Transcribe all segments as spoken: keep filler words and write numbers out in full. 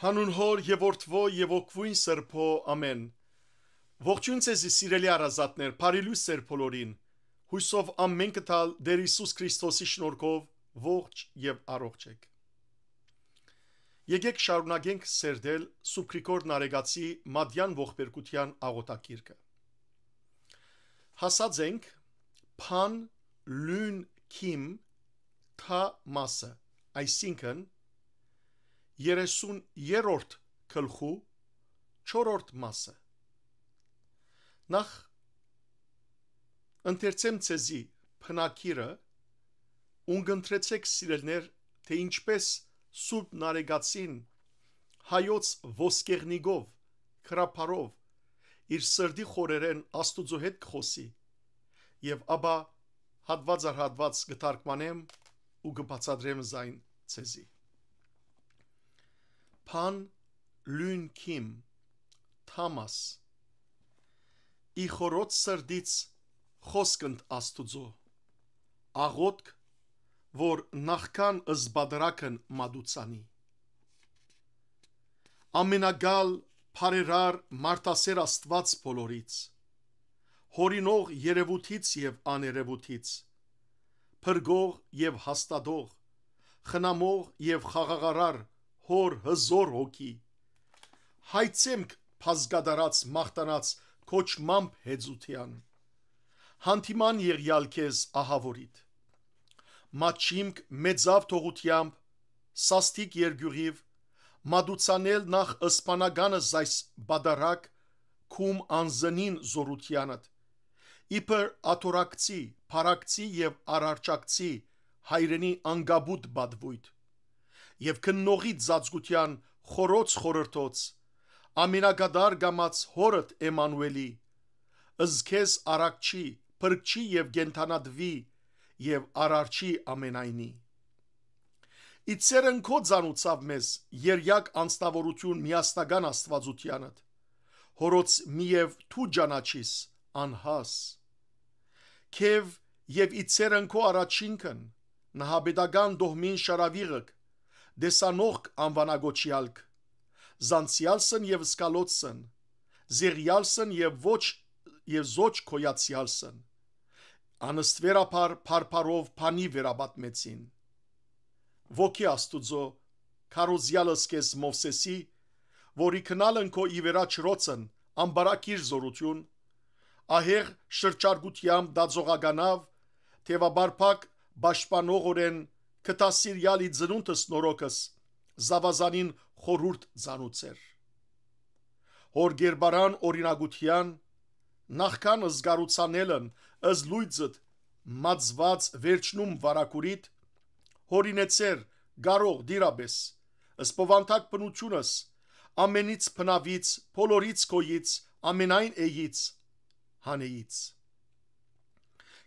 Հանուն Հօր եւ Որդւոյ եւ Հոգւոյն Սրբոյ, ամէն։ Ողջոյն ձեզի, սիրելի հարազատներ, բարի լոյս ձեր բոլորին։ Յուսով ամէնքը տալ Տէր Յիսուս Քրիստոսի շնորհքով ողջ եւ առողջ էք։ Եկեք շարունակենք սերտել Սուրբ Գրիգոր Նարեկացի Մատեան ողբերգութեան աղօթագիրքը։ Հասած ենք Փան Լուն Քիմ թ մասը, այսինքն երեսուն երրորդ գլխու չորրորդ մասը։ Նախ ընթերցեմ ձեզի բնագիրը, ուն կընտրեցեք, սիրելներ, թէ ինչպես Սուրբ Նարեկացին հայոց ոսկեղնիկով, քրափարով, իր սրտի խորերէն Աստուծոյ հետ կխօսի, եւ ապա հատուած առ հատուած կը թարգմանեմ ու կը բացատրեմ զայն ձեզի։ Փան Լուն Քիմ, թ մաս։ Ի խորոց սրտից խօսք ընդ Աստուծոյ, աղօթք, որ նախքան զբադրակն մատուցանի։ Ամենակալ, բարերար, մարդասէր Աստուած բոլորից, յօրինող երեւութից եւ աներեւութից, փրկող եւ հաստատող, խնամող եւ խաղաղարար Հօր հզօր հոգի, հայցեմք բազկատարած մաղթանաց կոչմամբ հեծութեան, յանդիման եղեալ քեզ ահաւորիդ։ Մաչիմք մեծաւ թողութեամբ, սաստիկ երկիւղիւ, մատուցանել նախ սպանականս այս բադարակ, քում անզնին զօրութեանդ, իբր աթոռակցի, փառակցի եւ արարչակցի հայրենի անկապուտ պատվոյթ, եւ քննողի ծածկութեան խորոց խորհրդոց, ամենակատար կամաց Հօրդ Էմանուէլի, զքեզ արակչի, փրկչի եւ կենդանատուի եւ արարչի ամենայնի։ Իցերն քո ծանուցաւ մեզ երյակ անձնաւորութիւն միասնական Աստուածութեանդ, Հօրոց մի եւ դու ճանաչիս անհաս։ Քեւ եւ իցերն քո առաջինքն, նահապետական դոհմին շարաւիղք, տեսանողք անվանագոչեալք, զանցեալսն եւ սկալոցսն, զեղեալսն եւ ոչ, եւ զոչ գոյացեալսն, անըստվերաբար բարբարով բանի վերապատմեցին։ Ոգի Աստուծոյ, քարոզեալս քեզ Մովսէսի, որի քնալն քո ի վերա չրոցն, ամբարակիր զօրութիւն, ահեղ շրջարկութեամբ դածողականաւ, թեւաբարբակ պաշտպանողորեն կը դասիրյալ ի ծնունդս նորոքս, զաւազանին խորհուրդ ծանուցեր։ Հոր գերբարան օրինակութեան, նախքան զգարուցանելն, զլույցդ մածված վերջնում վարակուրիդ, հորինեցեր, կարող դիրապէս, սպովանթակ բնութիւնս, ամենից բնաւից, բոլորից քոյից, ամենայն էյից, հանեից։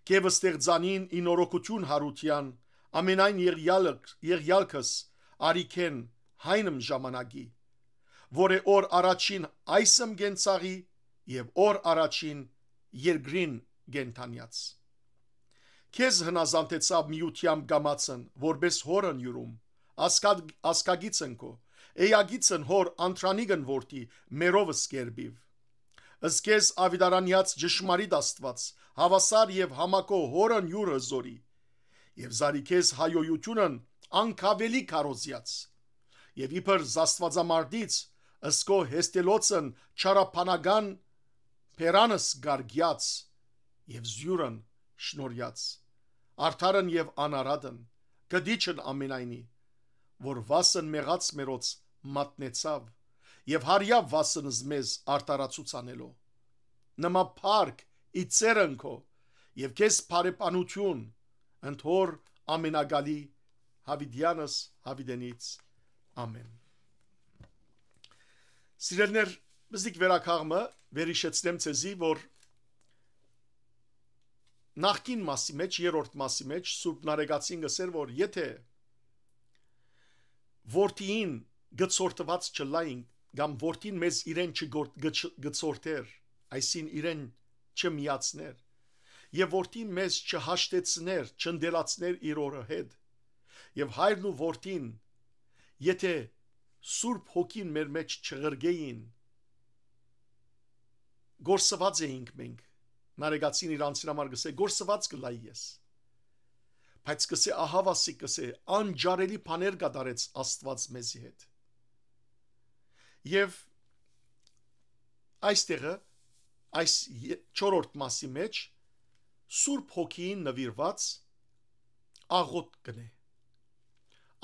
Կեւ ստեղծանին ի նորոգութիւն յարութեան, ամենայն եղյալք-, եղյալքս, արիքեն, հայնմ ժամանակի, որ է օր առաջին այսմ կենցաղի եւ օր առաջին երկրին կենդանյաց։ Քեզ հնազանդեցաւ միութեան կամացն, որպես հորն յուրում, ասկա-, ասկագիցն քո, էյագիցն հոր անտրանիկն որդի, մերովս կերպիվ։ Զքեզ աւիտարանեաց ճշմարիտ Աստուած, հաւասար եւ համակո հորն յուր հզորի, եւ զարի քեզ հայոյութիւնն անկավելի քարոզեաց, եւ իբր զաստուածամարտից, ըսկո հեստելոցն չարաբանական բերանս գարգեաց եւ զիւրն շնորհեաց, արդարն եւ անարատն, կդիչն ամենայնի, որ վասն մեղած մերոց մատնեցաւ եւ հարիաւ վասն զմեզ արդարացուցանելով։ Նման փառք իցերն քո եւ քեզ բարեբանութիւն ընդ Հոր ամենակալի Յաւիտեանս Յաւիտենից։ Ամէն։ Սիրելիներ, բզիկ վերակաղմը վերիշեցնեմ ձեզի, որ նախկին մասի մեջ, երրորդ մասի մեջ Սուրբ Նարեկացին գսեր, որ եթե որդիին գցորտված չլայինք, կամ որդին մեզ իրեն չգորդ-, գչ-, գցորտեր, այսին իրեն չմիացներ, եւ որդին մեզ չհաշտեցներ, չընդելացներ իր օրը հետ, եւ հայրն ու որդին, եթե Սուրբ Հոգին մեր մեջ չղրկէին, կորսուած էինք մենք։ Նարեկացին իր անձին համար կ'ըսէ. «Կորսուած կ'ըլլայի ես»։ Բայց կ'ըսէ, ահաւասիկ կ'ըսէ, անջարելի բաներ կատարեց Աստուած մեզի հետ։ Եւ այստեղը, այս ե-, չորրորդ մասի մեջ, Սուրբ Հոգիին նուիրուած աղօթք կ'ընէ։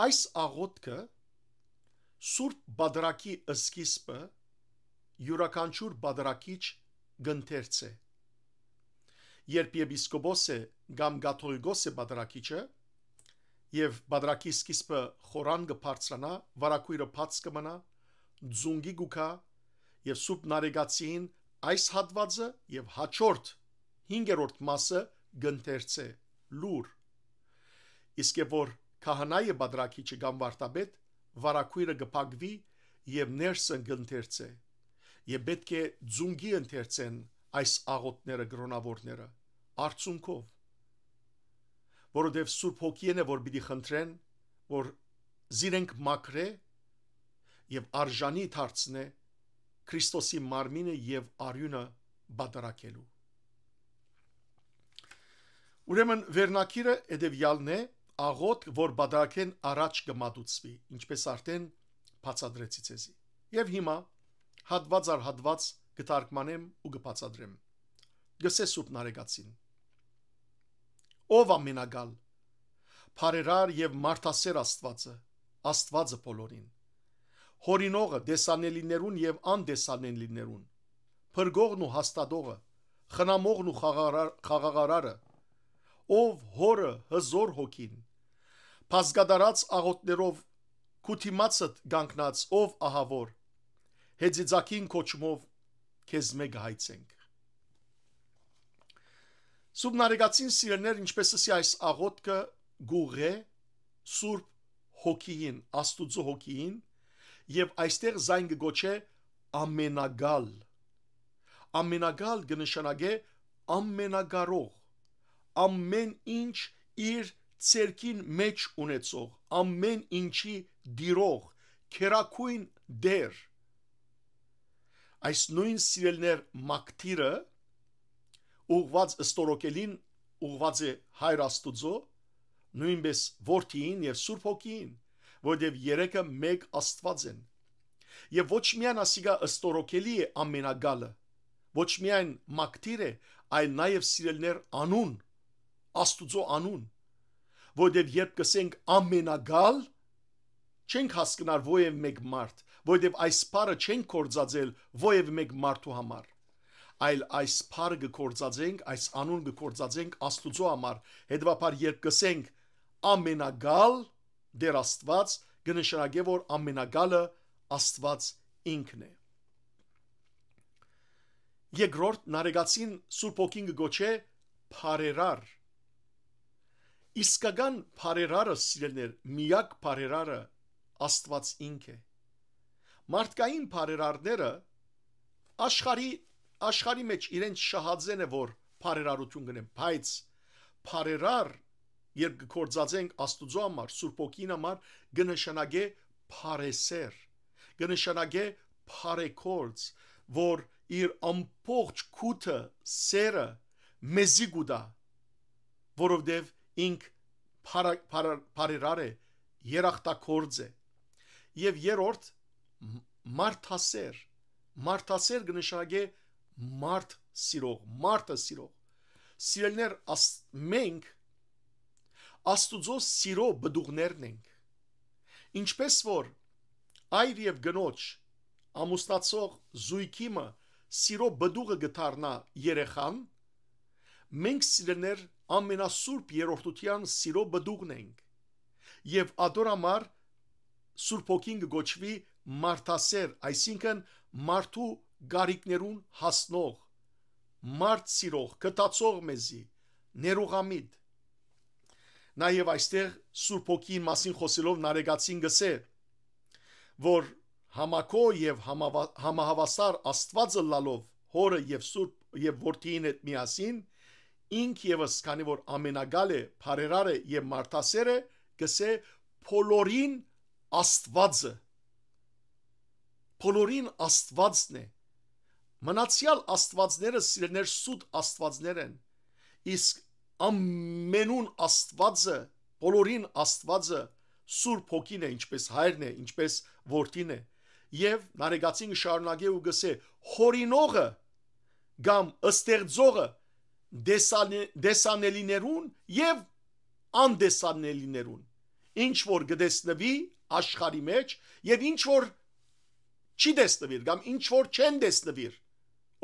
Այս աղօթքը Սուրբ Պատարագի սկիզբը յուրաքանչիւր պատարագիչ կ'ընթերցէ։ Երբ եպիսկոպոս է կամ կաթողիկոս է պատարագիչը, եւ պատարագի սկիզբը խորան կը բարձրանայ, վարագոյրը բաց կը մնայ, ձունկի կու գայ, եւ Սուրբ Նարեկացին այս հատուածը եւ հաջորդ հինգերորդ մասը կ'ընթերցէ լուր։ Իսկ երբ որ քահանայ է պատարագիչը կամ վարդապետ, վարագոյրը կը փակուի եւ ներսը կ'ընթերցէ։ Եւ պէտք է ձունկի ընթերցեն այս աղօթքները կրոնաւորները, արցունքով, որովհետեւ Սուրբ Հոգիէն է, որ պիտի խնդրեն, որ զիրենք մաքրէ եւ արժանի դարձնէ Քրիստոսի մարմինը եւ արիւնը պատարագելու։ Ուրեմն վերնագիրը հետեւեալն է. աղօթք, որ պատարագէն առաջ կը մատուցուի, ինչպես արդեն բացատրեցի ձեզի։ Եւ հիմա հատուած առ հատուած կը թարգմանեմ ու կը բացատրեմ։ Գսե Սուրբ Նարեկացին. «Ով ամենակալ, բարերար եւ մարդասեր Աստուածը, Աստուածը բոլորին, հորինողը տեսանելիներուն եւ անտեսանելիներուն, փրկողն ու հաստատողը, խնամողն ու խաղաղարար-, խաղաղարարը, ով Հօրը, Հզօր Հոգին, բազկատարած աղօթներով քու դիմացդ կանգնած, ով ահաւոր, հեծիծակին կոչումով քեզմէ կը հայցենք»։ Սուրբ Նարեկացին, սիրելիներ, ինչպես ըսի, այս աղօթքը կ'ուղղէ Սուրբ Հոգիին, Աստուծոյ Հոգիին, եւ այստեղ զայն կը կոչէ ամենակալ։ Ամենակալ կը նշանակէ ամենակարող, ամեն ինչ իր ձեռքին մեջ ունեցող, ամեն ինչի տիրող, քերագոյն Տէր։ Այս նոյն, սիրելիներ, մակդիրը ուղղուած, ստորոգելին ուղղուած է Հայր Աստուծոյ, նոյնպէս Որդիին եւ Սուրբ Հոգիին, որովհետեւ երեքը մէկ Աստուած են։ Եւ ոչ միայն ասիկա ստորոգելի է ամենակալը, ոչ միայն մակդիր է, այլ նաեւ, սիրելիներ, անուն, Աստուծոյ անուն, որովհետեւ երբ կ'ըսենք ամենակալ, չենք հասկնար որեւէ մէկ մարդ, որովհետեւ այս բառը չենք գործածել որեւէ մէկ մարդու համար, այլ այս բառը կը գործածենք, այս անուն կը գործածենք Աստուծոյ համար։ Հետեւաբար, երբ կ'ըսենք ամենակալ Տէր Աստուած, կը նշանակէ, որ ամենակալը Աստուած ինքն է։ Երկրորդ, Նարեկացին Սուրբ Հոգին կը կոչէ բարերար։ Իսկական բարերարը, սիրելիներ, միակ բարերարը Աստուած ինք է։ Մարդկային բարերարները աշխարհի, աշխարհի մեջ իրենց շահածեն է, որ բարերարութիւն կ'ընեն, բայց բարերար, երբ կը գործածենք Աստուծոյ համար, Սուրբ Հոգին համար, կը նշանակէ բարեսէր, կը նշանակէ բարեգործ, որ իր ամբողջ գութը, սերը մեզի կու տայ, որովհետեւ ինք բարա-, բարա-, բարերար է, երախտագործ է։ Եւ երրորդ, մ-, մարդասէր, մարդասէր կը նշանակէ մարդ սիրող, մարդը սիրող։ Սիրելիներ, աս-, մենք Աստուծոյ սիրոյ պտուղներն ենք։ Ինչպես որ այր եւ կնոջ, ամուսնացող զոյգի մը սիրոյ պտուղը կը դառնայ երեխան, մենք, սիրելիներ, ամենասուրբ երրորդութեան սիրոյ պտուղն ենք։ Եւ ատոր համար Սուրբ Հոգին կը կոչուի մարդասէր, այսինքն մարդու կարիքներուն հասնող, մարդ սիրող, գթացող մեզի, ներուղամիտ։ Նաեւ այստեղ Սուրբ Հոգին մասին խօսելով Նարեկացին կ'ըսէ, որ համակոյ եւ համավա-, համահաւասար Աստուած ըլլալով, Հօրը եւ Սուրբ, եւ Որդիին հետ միասին, ինք եւս, քանի որ ամենակալ է, բարերար է եւ մարդասէր է, կ'ըսէ, բոլորին Աստուածը, բոլորին Աստուածն է։ Մնացեալ աստուածները, սիրելիներ, սուտ աստուածներ են, իսկ ամենուն Աստուածը, բոլորին Աստուածը Սուրբ Հոգին է, ինչպես Հայրն է, ինչպես Որդին է։ Եւ Նարեկացին կը շարունակէ ու կ'ըսէ. «Յորինողը կամ ստեղծողը տեսանե-, տեսանելիներուն եւ անդեսանելիներուն, ինչ որ կը տեսնուի աշխարհի մեջ եւ ինչ որ չի տեսնուիր կամ ինչ որ չեն տեսնուիր,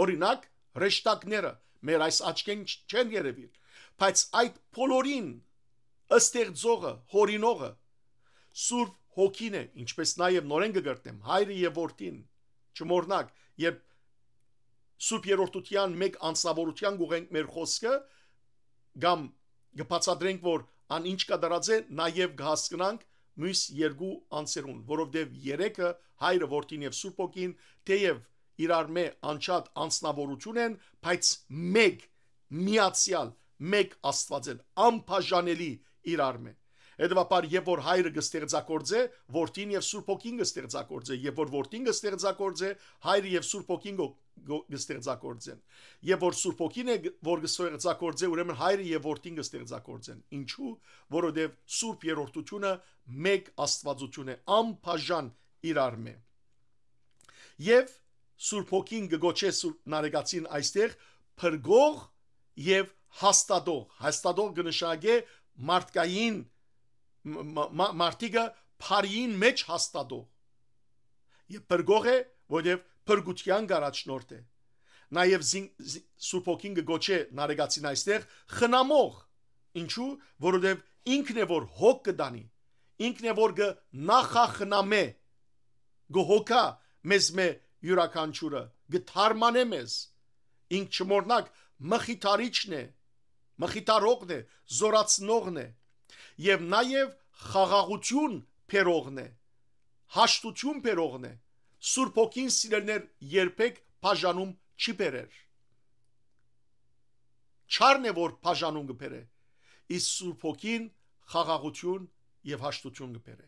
օրինակ, հրեշտակները մեր այս աչքէն չ-, չեն երեւիր, բայց այդ բոլորին ստեղծողը, յորինողը Սուրբ Հոգին է, ինչպես նաեւ նորէն կը կրկնեմ, Հայրը եւ Որդին, չմոռնաք, երբ Սուրբ Երրորդութեան մէկ անձնաւորութեան կ'ուղենք մեր խօսքը, կամ կը բացատրենք, որ ան ինչ կատարած է, նաեւ կը հասկնանք միւս երկու անձերուն, որովհետեւ երեքը, Հայրը, Որդին եւ Սուրբ Հոգին, թեեւ իրարմէ անջատ անձնաւորութիւն են, բայց մէկ, միացեալ, մէկ Աստուած են, անբաժանելի իրարմէ։ Հետեւաբար, երբ որ Հայրը կը ստեղծագործէ, Որդին եւ Սուրբ Հոգին կը ստեղծագործէ, երբ որ Որդին կը ստեղծագործէ, Հայրը եւ Սուրբ Հոգին կը, կը, կը ստեղծագործեն։ Երբ որ Սուրբ Հոգին է, որ կը ստեղծագործէ, ուրեմն Հայրը եւ Որդին կը ստեղծագործեն։ Ինչու՞, որովհետեւ Սուրբ Երրորդութիւնը մէկ Աստուածութիւն է, անբաժան իրարմէ։ Եւ Սուրբ Հոգին կը գոչէ Սուրբ Նարեկացին այստեղ փրկող եւ հաստատող։ Հաստատող կը նշանակէ մարդկային, մ-, մ-, մ-, մարդիկը բարիին մեջ հաստատող։ Եւ փրկող է, որովհետեւ փրկութեան կ'առաջնորդէ։ Նաեւ զին-, զի-, Սուրբ Հոգին կը գոչէ Նարեկացին այստեղ խնամող։ Ինչու՞, որովհետեւ ինքն է, որ հոգ կը տանի, ինքն է, որ կը նախախնամէ, կը հոգայ մեզմէ յուրաքանչիւրը, կը թարմանէ մեզ։ Ինք, չմոռնաք, մխիթարիչն է, մխիթարողն է, զօրացնողն է եւ նաեւ խաղաղութիւն բերողն է, հաշտութիւն բերողն է։ Սուրբ Հոգին, սիրելիներ, երբեք բաժանում չի բերեր։ Չարն է, որ բաժանում կը բերէ, իսկ Սուրբ Հոգին խաղաղութիւն եւ հաշտութիւն կը բերէ։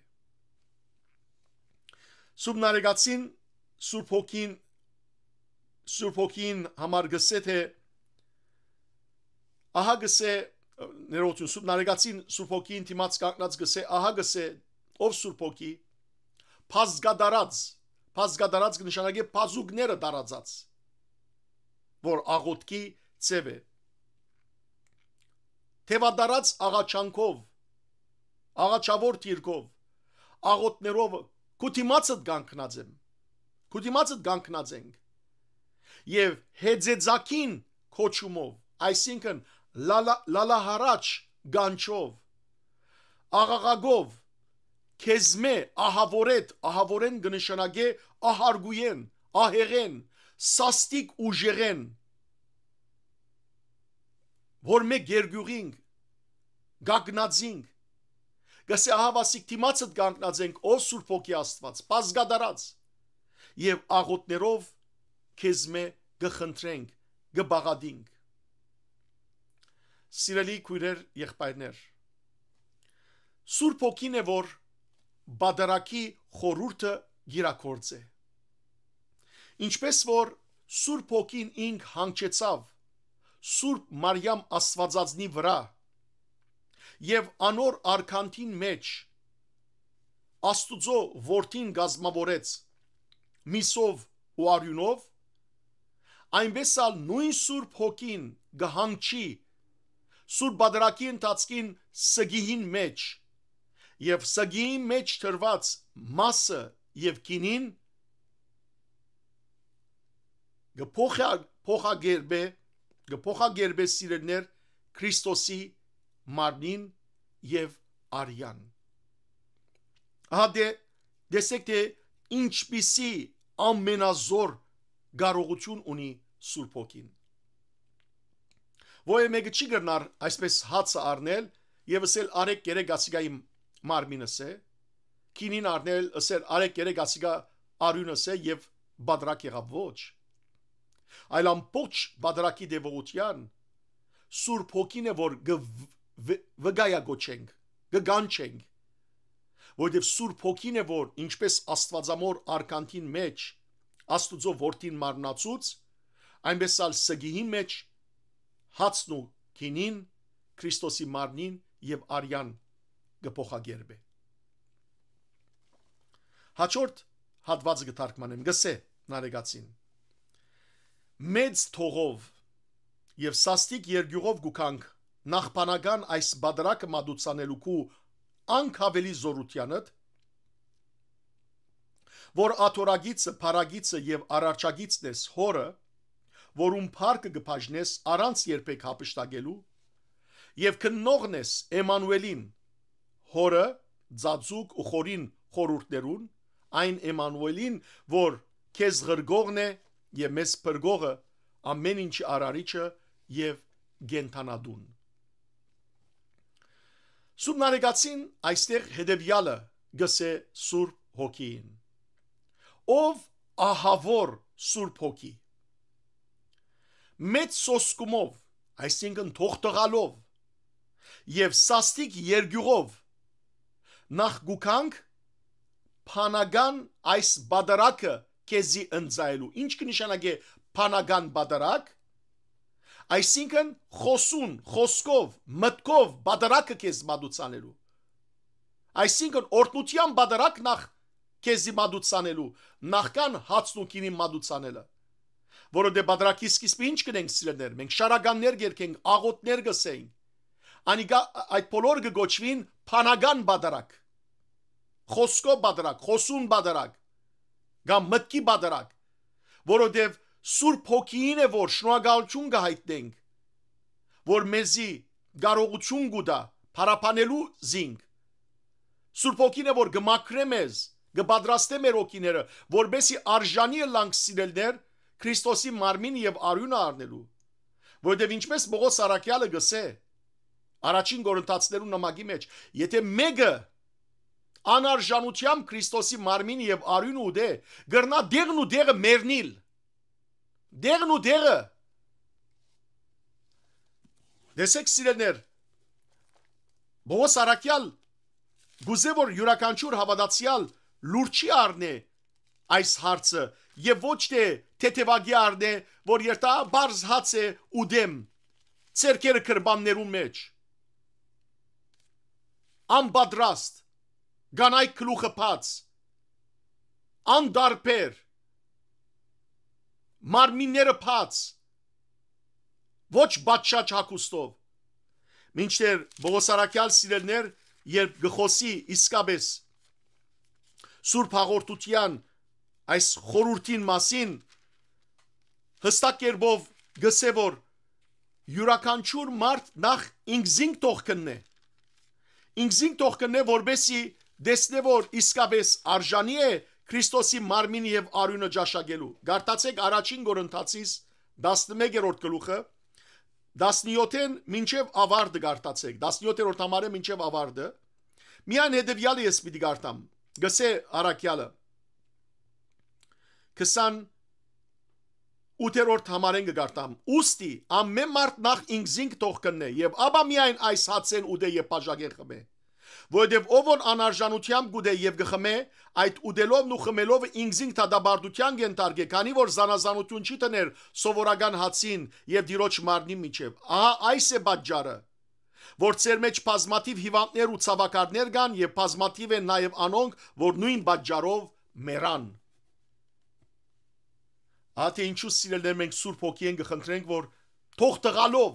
Սուրբ Նարեկացին, Սուրբ Հոգին, Սուրբ Հոգին համար կ'ըսէ, թէ, ահա կ'ըսէ, ներողություն, Սուրբ Նարեկացին Սուրբ Հոգին դիմաց կանգնած կ'ըսէ, ահա կ'ըսէ, ով Սուրբ Հոգի, բազգատարած, բազգատարած կը նշանակէ բազուկները տարածած, որ աղօթքի ձև է։ Թեւատարած աղաչանքով, աղաչաւոր դիրքով, աղօթներով քու դիմացդ կանգնած եմ, քու դիմացդ կանգնած ենք, եւ հեծեծակին կոչումով, այսինքն՝ լալա-, լալահարաչ գանչով, աղաղակով, քեզմէ, ահաւորեդ, ահաւորեն կը նշանակէ ահարգոյեն, ահեղեն, սաստիկ ուժեղեն, որ մէ գերգիւղինք, գագնածինք, կ'ըսէ, ահա վասիկ դիմացդ կանգնած ենք, ով Սուրբ Հոգի Աստուած, բազգատարած, եւ աղօթներով քեզմէ կը խնդրենք, կը բաղատինք։ Սիրելի քոյրեր, եղբայրներ, Սուրբ Հոգին է, որ պատարագի խորհուրդը կիրագործէ։ Ինչպես որ Սուրբ Հոգին ինք հանգչեցաւ Սուրբ Մարիամ Աստուածածնի վրայ եւ անոր արգանդին մեջ Աստուծոյ Որդին կազմաւորեց միսով ու արիւնով, այնպէս ալ նոյն Սուրբ Հոգին կը հանգչի Սուրբ Պատարագի ընթացքին սգիին մեջ եւ սգիին մեջ տրուած մասը եւ գինին կը փոխա-, փոխակերպէ, կը փոխակերպէ, սիրելիներ, Քրիստոսի մարմնին եւ արեան։ Ահա դե, տեսեք, թէ ինչպիսի ամենազոր կարողութիւն ունի Սուրբ Հոգին։ Ոեւէ մէկը չի կրնար այսպես հացը առնել եւ ըսել՝ «Արեք, կերեք, ասիկա իմ մարմինս է»։ Գինին առնել, ըսել՝ «Արեք, կերեք, ասիկա արիւնս է», եւ պատարագ եղաւ։ Ոչ։ Այլ ամբողջ պատարագի տեւողութեան Սուրբ Հոգին է, որ կը վ-, վ-, վկայակոչենք, կը կանչենք, որովհետեւ Սուրբ Հոգին է, որ, ինչպես Աստուածամոր արգանդին մեջ Աստուծոյ որդին մարմնացուց, այնպէս ալ սկիհին մէջ հացն ու գինին Քրիստոսի մարմնին եւ արեան կը փոխակերպէ։ Հաջորդ հատուածը կը թարգմանեմ, կ'ըսէ Նարեկացին. «Մեծ թողով եւ սաստիկ երկիւղով կու գանք նախ բանական այս պատարագը մատուցանելու քու անկաւելի զօրութեանդ, որ աթոռագիծը, փառագիծը եւ արարչագիծն ես Հօրը, որուն փառքը կը բաժնես առանց երբեք յափշտակելու, եւ քննողն ես Էմմանուէլին, Հօրը, Ծածուկ ու Խորին խորհուրդներուն, այն Էմմանուէլին, որ քեզ ղրկողն է եւ մեզ փրկողը, ամէն ինչի արարիչը եւ կենդանատուն»։ Սուրբ Նարեկացին այստեղ հետեւեալը կ'ըսէ Սուրբ Հոգիին. «Ով ահաւոր Սուրբ Հոգի, մեծ սոսկումով, այսինքն թողտղալով եւ սաստիկ երկիւղով նախ կու գանք բանական այս պատարագը քեզի ընծայելու»։ Ինչ կը նշանակէ բանական պատարագ։ Այսինքն՝ խոսուն, խոսքով, մտքով պատարագը քեզ մատուցանելու։ Այսինքն՝ օրհնութեան պատարագ նախ քեզի մատուցանելու, նախքան հացն ու գինին մատուցանելը։ Որովհետեւ պատարագի սկիզբը ինչ կ'ընենք, սիրելիներ, մենք շարականներ կերգենք, աղօթքներ կ'ըսենք։ Անիկա, այդ բոլոր կը կոչուին բանական պատարագ, խոսքով պատարագ, խոսուն պատարագ կամ մտքի պատարագ, որովհետեւ Սուրբ Հոգիին է, որ շնորհակալութիւն կը յայտնենք, որ մեզի կարողութիւն կու տայ փառաբանելու զինք։ Սուրբ Հոգին է, որ կը մաքրէ մեզ, կը պատրաստէ մեր հոգիները, որպեսզի արժանի ըլլանք, սիրելիներ, Քրիստոսի մարմին եւ արիւնը առնելու։ Որովհետեւ ինչպես Պողոս առաքեալը կ'ըսէ առաջին Կորինթացիներուն նամակի մեջ, եթե մէկը անարժանութեամբ Քրիստոսի մարմին եւ արիւնը ուտէ, կրնայ դեղն ու դեղը մեռնիլ։ Դեղն ու դեղը։ Տեսեք, սիրելիներ, Պողոս առաքեալ կ'ուզէ, որ իւրաքանչիւր հաւատացեալ լուր չի առնէ այս հարցը եւ ոչ թէ թեթեւակի առնէ, որ երթայ պարզ հաց է, ուտեմ, ձեռքերը գրպաններուն մեջ, անպատրաստ, կանայք գլուխը բաց, անտարբեր, մարմինները բաց, ոչ պատշաճ հագուստով։ Մինչդեռ Պողոս առաքեալ, սիրելիներ, երբ կը խօսի իսկապէս Սուրբ Հաղորդութեան այս խորհուրդին մասին, յստակ կերպով կ'ըսէ, որ իւրաքանչիւր մարդ նախ ինքզինք թող քննէ։ Ինքզինք թող քննէ, որպեսզի տեսնէ, որ իսկապէս արժանի է Քրիստոսի մարմին եւ արիւնը ճաշակելու։ Կարդացեք առաջին Կորինթացիս տասնմեկերորդ գլուխը, տասնյոթէն մինչեւ աւարտը կարդացեք, տասնյոթերորդ համարէ մինչեւ աւարտը։ Միայն հետեւեալը ես պիտի կարդամ, կ'ըսէ առաքեալը, քսան ութերորդ համարէն կը կարդամ. «Ուստի ամէն մարդ նախ ինքզինք թող քննէ, եւ ապա միայն այս հացէն ուտէ եւ բաժակէն խմէ։ Որովհետեւ ով որ անարժանութեամբ կ'ուտէ եւ կը խմէ, այդ ուտելովն ու խմելով ինքզինք դատապարտութեան կ'ենթարկէ, քանի որ զանազանութիւն չի դներ սովորական հացին եւ Տիրոջ մարմնին միջեւ։ Ահա այս է պատճառը, որ ձեր մեջ բազմաթիւ հիւանդներ ու ցաւաքարներ կան եւ բազմաթիւ են նաեւ անոնք, որ նոյն պատճառով մեռան»։ Ահա թե ինչու, սիրելիներ, մենք Սուրբ Հոգիէն կը խնդրենք, որ թող տղալով,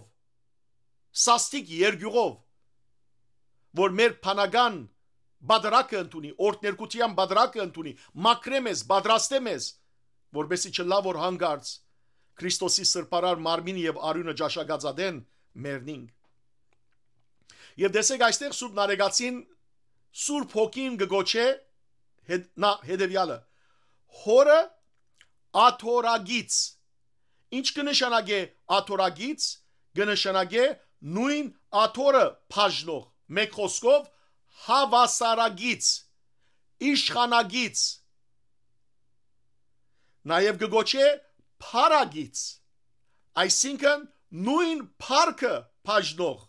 սաստիկ երկիւղով, որ մեր բանական բادرակը ընդունի, օրհներկութեան բادرակը ընդունի, մաքրէ մեզ, պատրաստէ մեզ, որպեսզի չըլլայ, որ հանկարծ Քրիստոսի սրբարար մարմինը եւ արիւնը ճաշակած ատեն մեռնինք։ Եւ տեսեք, այստեղ Սուրբ Նարեկացին Սուրբ Հոգին կը գոչէ հետ-, նա հետեւեալը. «Հօրը աթորագից»։ Ինչ կը նշանակէ աթորագից? Կը նշանակէ նոյն աթորը բաժնող, մէկ խօսքով, հաւասարագից, իշխանագից։ Նաեւ կը գոչէ փառագից, այսինքն նոյն փառքը բաժնող,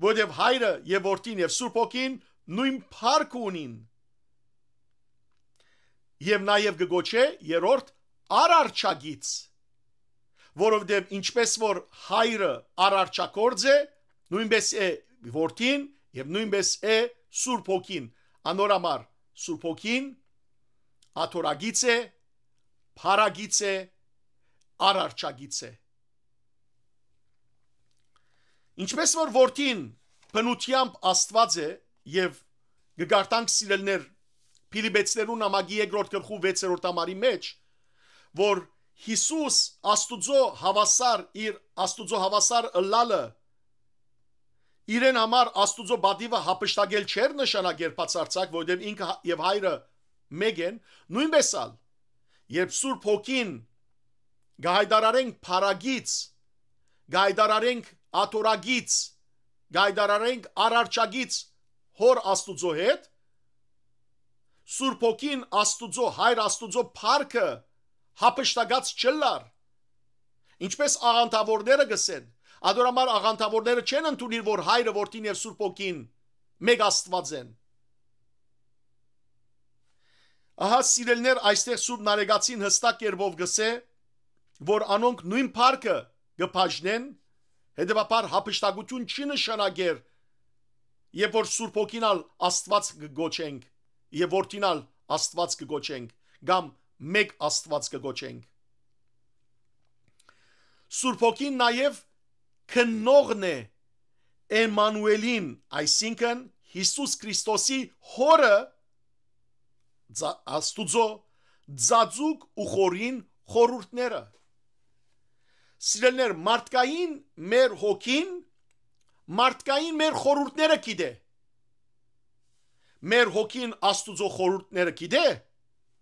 որովհետեւ Հայրը եւ Որդին եւ Սուրբ Հոգին նոյն փառքը ունին։ Եւ նաեւ կը գոչէ երրորդ արարչագիծ, որովհետեւ ինչպէս որ հայրը արարչագործ է, նոյնպէս է որդին եւ նոյնպէս է Սուրբ Հոգին։ Անոր համար Սուրբ Հոգին աթոռագիծ է, փառագիծ է, արարչագիծ է։ Ինչպէս որ որդին բնութեամբ Աստուած է, եւ կը կարդանք, սիրելիներ, Փիլիպեցիներուն նամակի երկրորդ գլխու վեցերորդ համարի մէջ, որ Յիսուս Աստուծոյ հաւասար, իր Աստուծոյ հաւասար ըլլալը իրեն համար Աստուծոյ պատիւը յափշտակել չէր նշանակեր բացարձակ, որովհետեւ ինքը հա-, եւ հայրը մէկ են, նոյնպէս ալ, երբ Սուրբ Հոգին կը հայտարարենք փառագիծ, կը հայտարարենք աթոռագիծ, կը հայտարարենք արարչագիծ Հօր Աստուծոյ հետ, Սուրբ Հոգին Աստուծոյ, Հայր Աստուծոյ փառքը յափշտակած չըլլար, ինչպէս աղանդաւորները կ'ըսեն։ Ադոր համար աղանդաւորները չեն ընդունիր, որ Հայրը, Որդին եւ Սուրբ Հոգին մէկ Աստուած են։ Ահա, սիրելիներ, այստեղ Սուրբ Նարեկացին յստակ կերպով կ'ըսէ, որ անոնք նոյն փառքը կը բաժնեն, հետեւաբար յափշտակութիւն չի նշանակեր, երբ որ Սուրբ Հոգին ալ Աստուած կը գոչենք, եւ Որդին ալ Աստուած կը գոչենք, կամ մէկ Աստուած կը գոչենք։ Սուրբ Հոգին նաեւ քննողն է Էմմանուէլին, այսինքն՝ Յիսուս Քրիստոսի Հօրը, ձա-, Աստուծոյ, ձաձուկ ու խորին խորհուրդները։ Սիրելիներ, մարդկային մեր հոգին, մարդկային մեր խորհուրդները գիտէ։ Մեր հոգին Աստուծոյ խորհուրդները գիտէ,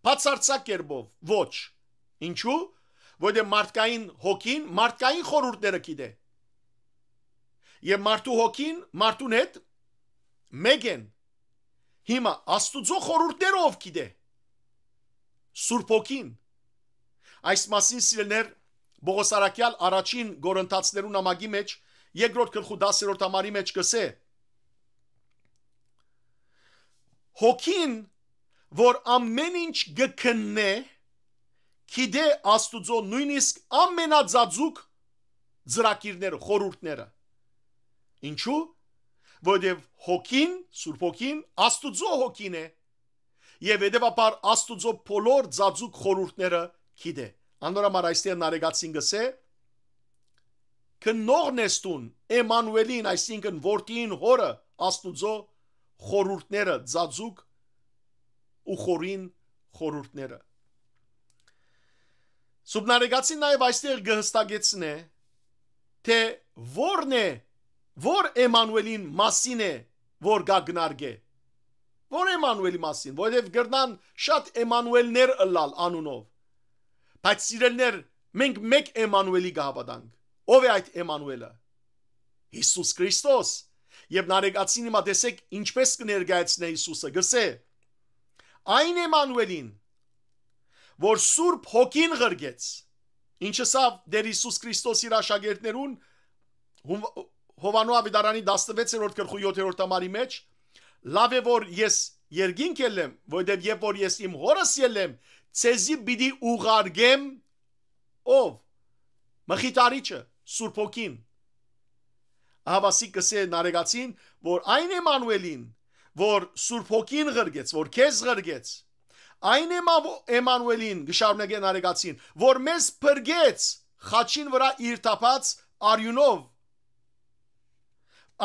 բացարձակ կերպով ոչ։ Ինչու՞։ Որովհետեւ մարդկային հոգին մարդկային խորհուրդները գիտէ։ Եւ մարդու հոգին մարդուն հետ մէկ են։ Հիմա Աստուծոյ խորհուրդները ով գիտէ։ Սուրբ Հոգին։ Այս մասին, սիրելիներ, Պողոս առաքեալ առաջին Կորինթացիներուն նամակի մէջ, երկրորդ գլխու դասերորդ համարի մէջ կ'ըսէ. Հոգին, որ ամէն ինչ կը քննէ, գիտէ Աստուծոյ նոյնիսկ ամենածածուկ ծրագիրները, խորհուրդները։ Ինչու՞։ Որովհետեւ Հոգին, Սուրբ Հոգին, Աստուծոյ Հոգին է, եւ հետեւաբար Աստուծոյ բոլոր ծածուկ խորհուրդները գիտէ։ Անոր համար այստեղ Նարեկացին կ'ըսէ. «Քննողն ես դուն Էմմանուէլին», այսինքն՝ Որդին Հօրը, Աստուծոյ խորհուրդները, ծածուկ ու խորին խորհուրդները։ Սուրբ Նարեկացին նաեւ այստեղ կը յստակեցնէ, թէ ո՞րն է, ո՞ր Էմմանուէլին մասին է, որ կը քննարկէ։ Ո՞ր Էմմանուէլի մասին, որովհետեւ կրնան շատ Էմմանուէլներ ըլլալ անունով։ Բայց, սիրելիներ, մենք մէկ Էմմանուէլի կը հաւատանք։ Ո՞վ է այդ Էմմանուէլը։ Յիսուս Քրիստոս։ Եւ Նարեկացին հիմա տեսեք ինչպես կը ներկայացնէ Յիսուսը, կ'ըսէ. «Այն Էմմանուէլին, որ Սուրբ Հոգին ղրկեց», ինչ ըսաւ Տէր Յիսուս Քրիստոս իր աշակերտներուն Հո-, Յովհաննու Աւետարանի տասնվեցերորդ գլխու յոթերորդ համարի մէջ. «Լաւ է որ ես երկինք ելլեմ, որովհետեւ երբ որ ես իմ Հօրս ելլեմ, ձեզի պիտի ուղարկեմ» ով։ Մխիթարիչը, Սուրբ Հոգին։ Ահավասիկ կ'ըսէ Նարեկացին, որ այն Էմմանուէլին, որ Սուրբ Հոգին ղրկեց, որ քեզ ղրկեց, այն Էմա-, Էմմանուէլին, կը շարունակէ Նարեկացին, որ մեզ փրկեց խաչին վրայ իր թափած արիւնով,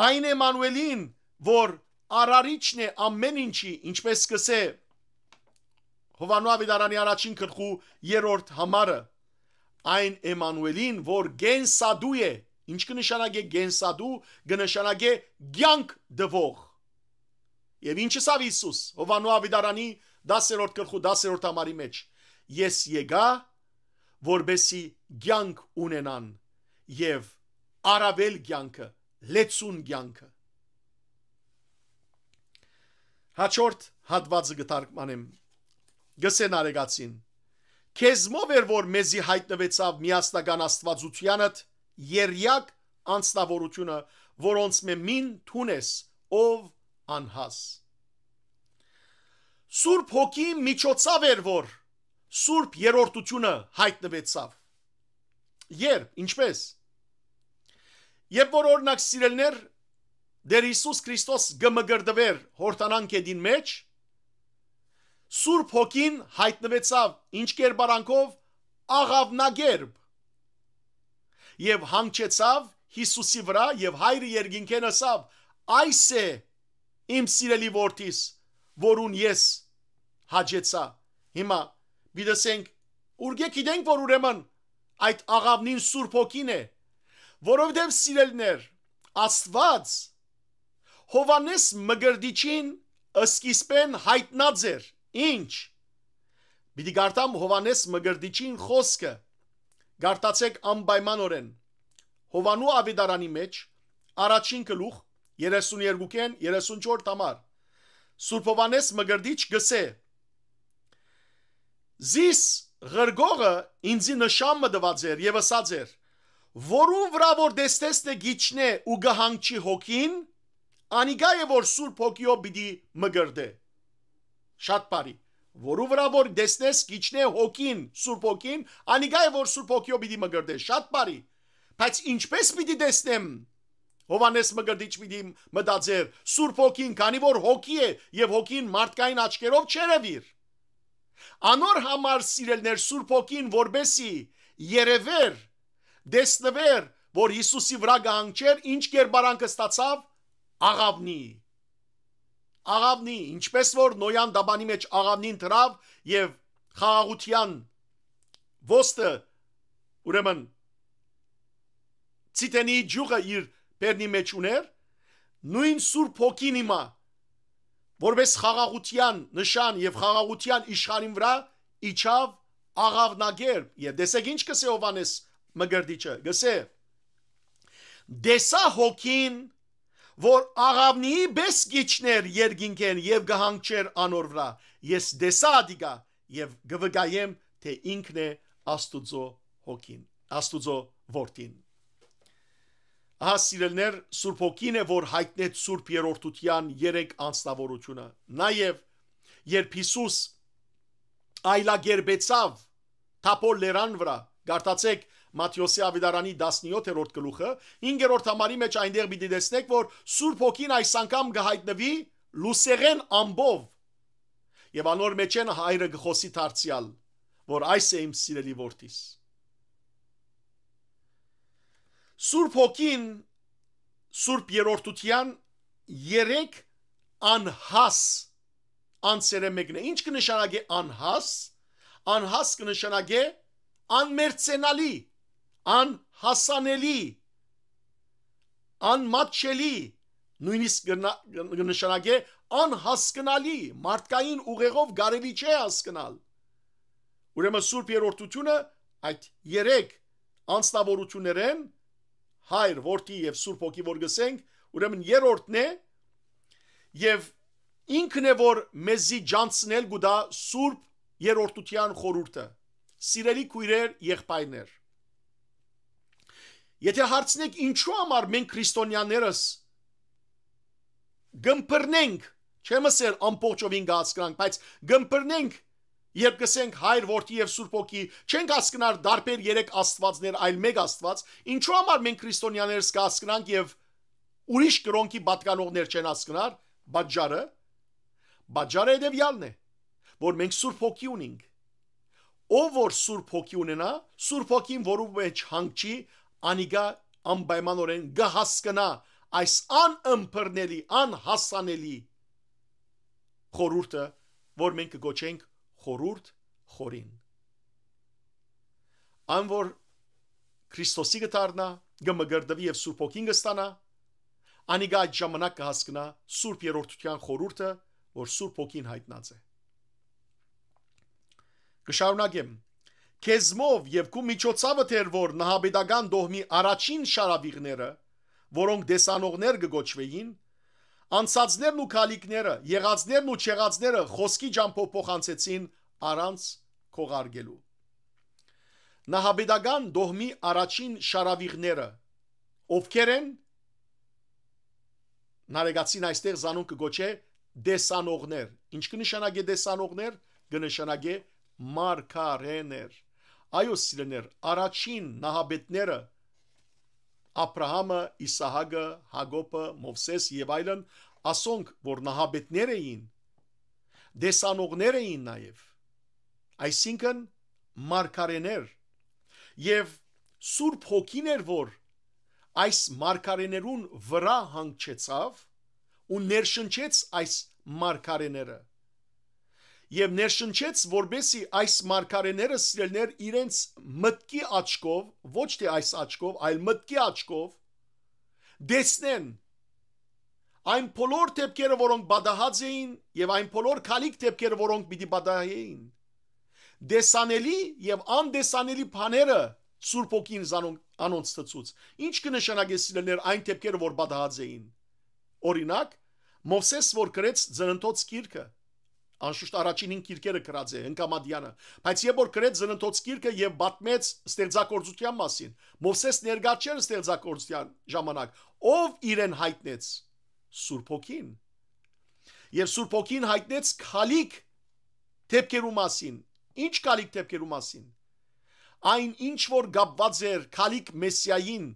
այն Էմմանուէլին, որ արարիչն է ամէն ինչի, ինչպես կ'ըսէ Յովհաննու Աւետարանի առաջին գլխու երրորդ համարը, այն Էմմանուէլին, որ կենսատու է։ Ինչ կը նշանակէ կենսատու, կը նշանակէ կեանք տուող։ Եւ ինչ ըսաւ Յիսուս Յովհաննու Աւետարանի դասերորդ գլխու դասերորդ համարի մէջ. «Ես եկայ, որպեսզի կեանք ունենան եւ առաւել կեանքը, լեցուն կեանքը»։ Հաջորդ հատուածը կը թարգմանեմ։ Գսե Նարեգացին. «Քեզմով էր, որ մեզի յայտնուեցաւ միասնական Աստուածութեանդ եռյակ անձնաւորութիւնը, որոնցմէ մին դուն ես, ով անհաս»։ Սուրբ Հոգի միջոցաւ էր, որ Սուրբ Երրորդութիւնը յայտնուեցաւ։ Երբ, ինչպես։ Երբ որ, օրինակ, սիրելիներ, Տէր Յիսուս Քրիստոս կը մկրտուէր Յորդանան գետին մէջ, Սուրբ Հոգին յայտնուեցաւ ինչ կերպարանքով, աղաւնակերպ, եւ հանգչեցաւ Յիսուսի վրայ, եւ Հայրը երկինքէն ըսաւ. «Այս է իմ սիրելի որդիս, որուն ես հաճեցայ»։ Հիմա պիտի ասենք, ուրկէ գիտենք, որ ուրեմն այդ աղաւնին Սուրբ Հոգին է, որովհետեւ, սիրելիներ, Աստուած Յովհաննէս Մկրտիչին սկիզբէն յայտնած էր։ Ինչ։ Պիտի կարդամ Յովհաննէս Մկրտիչին խօսքը։ Կարդացէք անպայմանօրէն Յովհաննու աւետարանի մէջ, առաջին գլուխ, երեսուն երկուքէն երեսուն չորս համար։ Սուրբ Յովհաննէս Մկրտիչ կ'ըսէ. «Զիս ղրկողը ինծի նշան մը տուած էր եւ ըսած էր. "Որուն վրայ որ տեսնես թէ կ'իջնէ ու կը հանգչի Հոգին, անիկա է որ Սուրբ Հոգիով պիտի մկրտէ"»։ Շատ բարի։ «Որու վրայ որ տեսնես կ'իջնէ Հոգին, Սուրբ Հոգին, անիկա է որ Սուրբ Հոգիով պիտի մկրտէ»։ Շատ բարի։ Բայց ինչպես պիտի տեսնեմ, Յովհաննէս Մկրտիչ պիտի մտածէր, Սուրբ Հոգին, քանի որ Հոգի է, եւ Հոգին մարդկային աչքերով չ'երեւիր։ Անոր համար, սիրելիներ, Սուրբ Հոգին որպեսի երևէր, տեսնուէր, որ Յիսուսի վրայ կը հանգչէր, ինչ կերպարանքը ստացաւ, աղաւնի։ Աղաւնի, ինչպես որ Նոյան տապանի մէջ աղաւնին դրաւ եւ խաղաղութեան ոստը, ուրեմն, Ցիտենի ջուղը իր բերնի մէջ ունէր, նոյն Սուրբ Հոգին հիմա, որպես խաղաղութեան նշան եւ խաղաղութեան իշխանին վրայ իջաւ աղաւնակերպ։ Եւ տեսեք ինչ կ'ըսէ Յովհաննէս Մկրտիչը, կ'ըսէ. «Տեսայ Հոգին, որ աղաւնիի պէս կ'իջնէր երկինքէն եւ կը հանգչէր անոր վրայ։ Ես տեսայ ատիկա եւ կը վկայեմ թէ ինքն է Աստուծոյ Հոգին, Աստուծոյ Որդին»։ Ահա, սիրելիներ, Սուրբ Հոգին է, որ յայտնեց Սուրբ Երրորդութեան երեք անձնաւորութիւնը։ Նաեւ, երբ Յիսուս այլակերպեցաւ Թաբոր լերան վրայ, կարդացէք Մատթէոսի աւետարանի տասնեօթերորդ գլուխը, հինգերորդ համարի մէջ, այնտեղ պիտի տեսնէք, որ Սուրբ Հոգին այս անգամ կը յայտնուի լուսեղէն ամպով, եւ անոր մէջէն Հայրը կը խօսի դարձեալ, որ «Այս է իմ սիրելի Որդիս»։ Սուրբ Հոգին Սուրբ Երրորդութեան երեք անհաս անձերէ մեկն է։ Ինչ կը նշանակէ անհաս։ Անհաս կը նշանակէ անմերձենալի, անհասանելի, անմատչելի, նոյնիսկ կը ն-, կը նշանակէ անհասկնալի, մարդկային ուղեղով կարելի չէ հասկնալ։ Ուրեմն Սուրբ Երրորդութիւնը այդ երեք անձնաւորութիւններէն, Հայր, Որդի եւ Սուրբ Հոգի, որ գսենք, ուրեմն երրորդն է, եւ ինքն է, որ մեզի ջանցնել կու տայ Սուրբ Երրորդութեան խորհուրդը։ Սիրելի քոյրեր, եղբայրներ, եթե հարցնեք, ինչու համար մենք քրիստոնյաներս կ'ըմբռնենք, չեմ ըսեր ամբողջովին կ'հասկնանք, բայց կ'ըմբռնենք, երբ կ'ըսենք Հայր, Որդի եւ Սուրբ Հոգի, չենք հասկնար տարբեր երեք Աստուածներ, այլ մէկ Աստուած, ինչու համար մենք քրիստոնյաներս կ'հասկնանք եւ ուրիշ կրօնքի պատկանողներ չեն հասկնար, պատճառը, պատճառը հետեւեալն է, որ մենք Սուրբ Հոգի ունենք։ Ով որ Սուրբ Հոգի ունենայ, Սուրբ Հոգին որու մէջ հանգչի, անիկա անպայմանօրէն կը հասկնայ այս անըմբռնելի, անհասանելի խորհուրդը, որ մենք կը կոչենք խորհուրդ խորին։ Ան որ Քրիստոսի կը դառնայ, կը մկրտուի եւ Սուրբ Հոգին կը ստանայ, անիկա այդ ժամանակ կը հասկնայ Սուրբ Երրորդութեան խորհուրդը, որ Սուրբ Հոգին յայտնած է։ Կը շարունակեմ. «Քեզմով եւ քու միջոցաւդ էր, որ նահապետական տոհմի առաջին շարաւիղները, որոնք տեսանողներ կը կոչուէին, անցածներն ու քալիքները, եղածներն ու չեղածները խօսքի ճամբով փոխանցեցին առանց քողարկելու»։ Նահապետական տոհմի առաջին շարաւիղները ովքեր են։ Նարեկացին այստեղ զանոնք կը կոչէ տեսանողներ։ Ինչ կը նշանակէ տեսանողներ? Կը նշանակէ մարգարէներ։ Այո, սիրելիներ, առաջին նահապետները, Աբրահամը, Իսահակը, Յակոբը, Մովսէս եւ այլն, ասոնք որ նահապետներ էին, տեսանողներ էին նաեւ, այսինքն՝ մարգարէներ, եւ Սուրբ Հոգին էր, որ այս մարգարէներուն վրայ հանգչեցաւ ու ներշնչեց այս մարգարէները։ Եւ ներշնչեց, որպեսզի այս մարգարէները, սիրելիներ, իրենց մտքի աչքով, ոչ թե այս աչքով, այլ մտքի աչքով, տեսնեն այն բոլոր դէպքերը, որոնք պատահած էին, եւ այն բոլոր քալիք դէպքերը, որոնք պիտի պատահէին։ Տեսանելի եւ անտեսանելի բաները Սուրբ Հոգին զանոնք, անոնց ցցուց։ Ինչ կը նշանակէ, սիրելիներ, այն դէպքերը, որ պատահած էին։ Օրինակ, Մովսէս, որ գրեց Ծննդոց գիրքը, անշուշտ առաջին հին գիրքերը գրած է Հնկամատեանը, բայց երբ որ գրեց Ծննդոց գիրքը եւ պատմեց ստեղծագործության մասին, Մովսէս ներկայ չէր ստեղծագործության ժամանակ, ով իրեն յայտնեց? Սուրբ Հոգին։ Եւ Սուրբ Հոգին յայտնեց քալիք դէպքերու մասին։ Ինչ քալիք դէպքերու մասին? Այն, ինչ որ կապուած էր քալիք Մեսիային,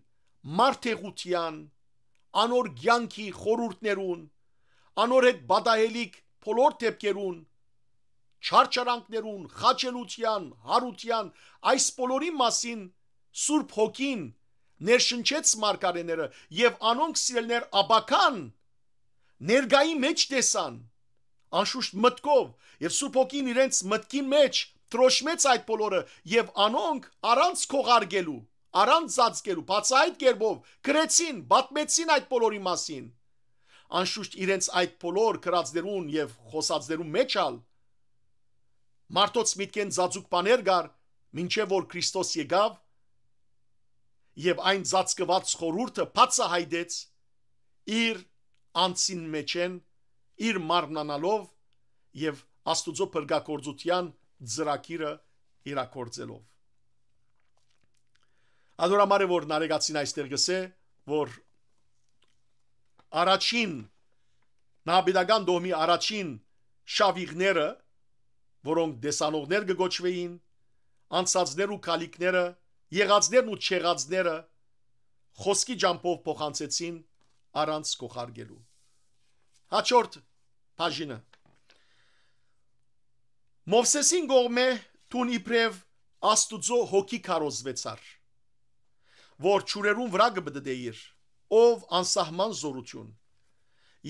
մարդեղութեան, անոր կեանքի խորհուրդներուն, անոր հետ պատահելիք բոլոր դէպքերուն, չարչարանքներուն, խաչելութեան, յարութեան, այս բոլորի մասին Սուրբ Հոգին ներշնչեց մարգարէները եւ անոնք, սիրելիներ, ապագան ներկայի մէջ տեսան, անշուշտ մտքով, եւ Սուրբ Հոգին իրենց մտքին մէջ տրոշմեց այդ բոլորը, եւ անոնք առանց քողարկելու, առանց ծածկելու, բացայայտ կերպով գրեցին, պատմեցին այդ բոլորի մասին։ Անշուշտ իրենց այդ բոլոր գրածներուն եւ խօսածներուն մէջ ալ մարդոց միտքէն ծածուկ բաներ կար, մինչեւ որ Քրիստոս եկաւ եւ այն ծածկուած խորհուրդը բացահայտեց իր անձին մէջէն, իր մարմնանալով եւ Աստուծոյ փրկագործութեան ծրագիրը իրագործելով։ Ադոր համար է, որ Նարեկացին այստեղ գսէ, որ առաջին, նահապետական տոհմի առաջին շավիղները, որոնք տեսանողներ կը կոչուէին, անցածներ ու քալիքները, եղածներն ու չեղածները, խօսքի ճամբով փոխանցեցին առանց քողարկելու։ Հաջորդ բաժինը։ Մովսէսին կողմէ դուն իբրեւ Աստուծոյ հոգի քարոզուեցար, որ ջուրերուն վրայ կը պտտէիր, ով անսահման զօրութիւն,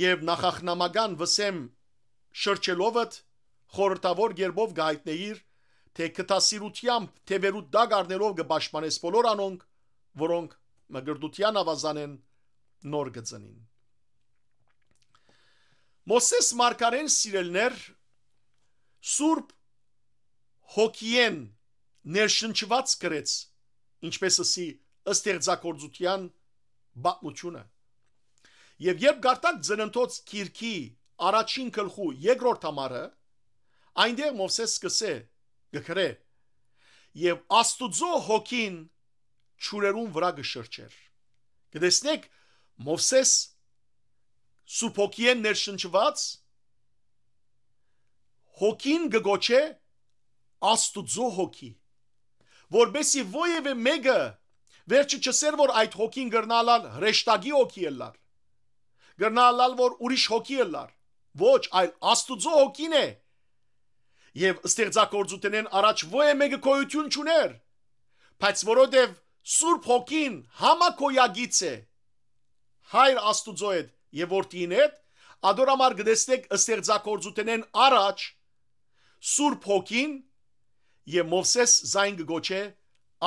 եւ նախախնամական վսեմ շրջելով ըդ, խորհրդաւոր կերպով կը յայտնէիր, թէ քթասիրութեամբ թեւերուդ տակ առնելով կը պաշտպանես բոլոր անոնք, որոնք մկրտութեան աւազանէն նոր կը ծնին։ Մովսէս մարգարէն, սիրելիներ, Սուրբ Հոգիէն ներշնչուած գրեց, ինչպես ըսի, ստեղծագործութեան պատմութիւնը։ Եւ երբ կարդաք Ծննդոց գիրքի առաջին գլխու երկրորդ համարը, այնտեղ Մովսէս սկսե, կը գրէ. «Եւ Աստուծոյ Հոգին ջուրերուն վրայ կը շրջէր»։ Կը տեսնեք, Մովսէս Սուրբ Հոգիէն ներշնչուած, Հոգին կը կոչէ Աստուծոյ Հոգի, որպեսզի որեւէ մէկը վերջը չըսեր, որ այդ Հոգին կրնայ ըլլալ հրեշտակի հոգի ըլլար, կրնայ ըլլալ, որ ուրիշ հոգի ըլլար։ Ոչ, այլ Աստուծոյ Հոգին է։ Եւ ստեղծագործութենէն առաջ որեւէ մէկը գոյութիւն չունէր, բայց որովհետեւ Սուրբ Հոգին համագոյագից է Հայր Աստուծոյ հետ եւ Որդին հետ, ադոր համար կը տեսնեք ստեղծագործութենէն առաջ Սուրբ Հոգին, եւ Մովսէս զայն կը կոչէ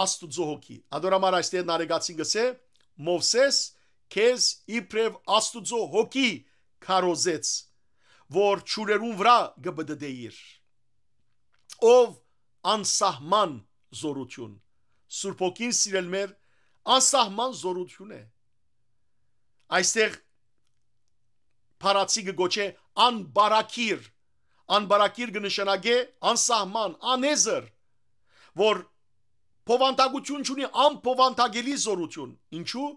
Աստուծոյ Հոգի։ Ադոր համար այստեղ Նարեկացին կսէ. «Մովսէս քեզ իբրեւ Աստուծոյ Հոգի քարոզեց, որ ջուրերուն վրայ կը պտտէիր»։ Ով անսահման զօրութիւն։ Սուրբ Հոգին, սիրելիներ, անսահման զօրութիւն է։ Այստեղ փառացի կը կոչէ անբարակիր։ Անբարակիր կը նշանակէ անսահման, անեզր, որ բովանդակութիւն չունի, անբովանդակելի զօրութիւն։ Ինչու՞։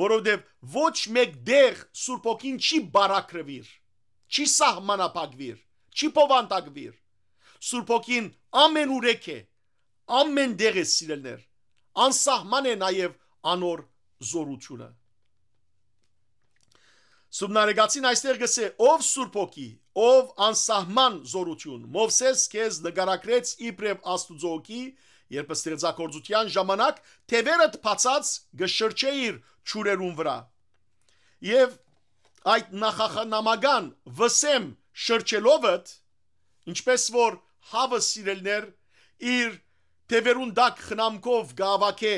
Որովհետեւ ոչ մէկ տեղ Սուրբ Հոգին չի բարակրուիր, չի սահմանափակուիր, չի բովանդակուիր։ Սուրբ Հոգին ամենուրեք է, ամեն տեղ է, սիրելներ, անսահման է նաեւ անոր զորութիւնը։ Սուրբ Նարեկացին այստեղ կ'ըսէ. «Ով Սուրբ Հոգի, ով անսահման զորութիւն, Մովսէս քեզ նկարագրեց իբրեւ Աստուծոյ Հոգի, երբ ստեղծագործութեան ժամանակ թեւերդ բացած կը շրջէիր ջուրերուն վրայ։ Եւ այդ նախախնամական վսեմ շրջելովդ, ինչպես որ հաւը, սիրելներ, իր թեւերուն տակ խնամքով կ'աւակէ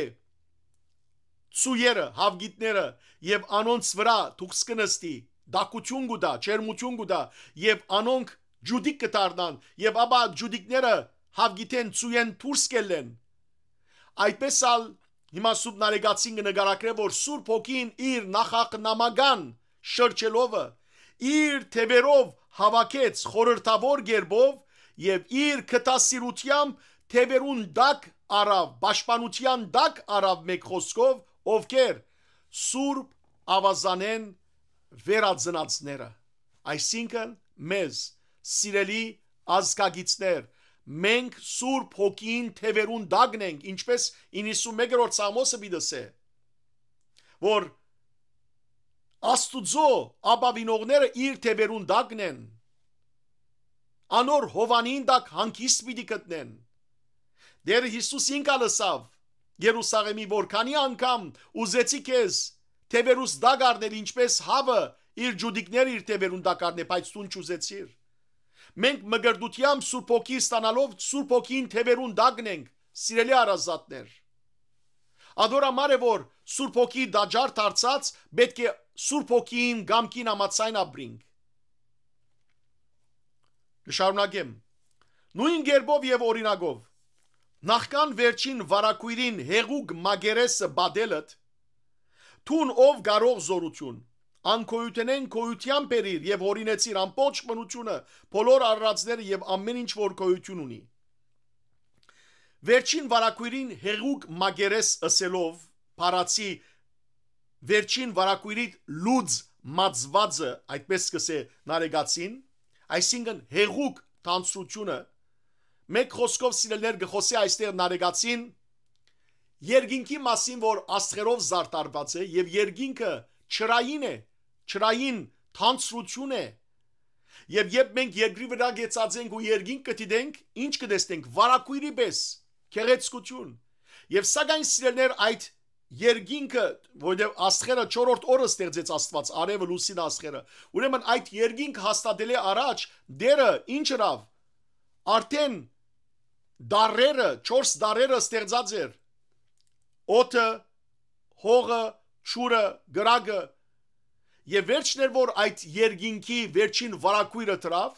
ծուերը, հաւկիտները, եւ անոնց վրայ թուքս կը նստի, տաքութիւն կու տայ, ջերմութիւն կու տայ, եւ անոնք ջուտիկ կը դառնան, եւ ապա ջուտիկները հաւկիթէն, ծուէն դուրս կ'ելլեն»։ Այդպէս ալ հիմա Սուրբ Նարեկացին կը նկարագրէ, որ Սուրբ Հոգին իր նախախնամական շրջելովը, իր թեւերով հաւաքեց խորհրդաւոր կերպով եւ իր քթասիրութեամբ թեւերուն տակ առաւ, պաշտպանութեան տակ առաւ, մէկ խօսքով, ովքեր Սուրբ Աւազանէն վերածնածները, այսինքն՝ մեզ, սիրելի ազգակիցներ, մենք Սուրբ Հոգին թեւերուն տակն ենք, ինչպես իննսունմեկերորդ Սաղմոսը պիտի ըսէ, որ Աստուծոյ ապաւինողները իր թեւերուն տակն են, անոր հովանին տակ հանգիստ պիտի գտնեն։ Տէրը Յիսուս ինք ալ ըսաւ Երուսաղէմի, որ քանի անգամ ուզեցի քեզ թեւերուս տակ առնել, ինչպես հաւը իր ջուտիկները իր թեւերուն տակ առնէ, բայց դուն չուզեցիր։ Մենք մկրտութեամբ Սուրբ Հոգի ստանալով, Սուրբ Հոգին թեւերուն տակն ենք, սիրելի հարազատներ։ Ադոր համար է, որ Սուրբ Հոգի տաճար դարձած, պէտք է Սուրբ Հոգին կամքին համաձայն ապրինք։ Կը շարունակեմ։ Նոյն կերպով եւ օրինակով, նախքան վերջին վարագոյրին հեղուկ մակերեսը պատելդ, դուն, ով կարող զորութիւն, անկոյութենէն գոյութեան բերիր եւ հորինեցիր ամբողջ բնութիւնը, բոլոր արարածները եւ ամէն ինչ որ գոյութիւն ունի։ Վերջին վարագոյրին հեղուկ մակերես ըսելով, փառացի վերջին վարագոյրի լուծ մածուածը, այդպես կ'ըսէ Նարեկացին, այսինքն՝ հեղուկ թանձրութիւնը, մէկ խօսքով, սիրելներ, կը խօսէ այստեղ Նարեկացին երկինքի մասին, որ աստղերով զարդարուած է, եւ երկինքը ջրային է, ջրային թանձրութիւն է։ Եւ երբ մենք երկրի վրայ գեցած ենք ու երկինք կը դիտենք, ի՞նչ կը տեսնենք, վարագոյրի պէս, գեղեցկութիւն։ Եւ սակայն, սիրելներ, այդ երկինքը, որովհետեւ աստղերը չորրորդ օրը ստեղծեց Աստուած, արեւը, լուսինը, աստղերը, ուրեմն այդ երկինքը հաստատելէ առաջ Տէրը ի՞նչ ըրաւ, արդէն դարերը, չորս դարերը ստեղծած էր. օդը, հողը, ջուրը, կրակը, եւ վերջն էր, որ այդ երկինքի վերջին վարագոյրը դրաւ։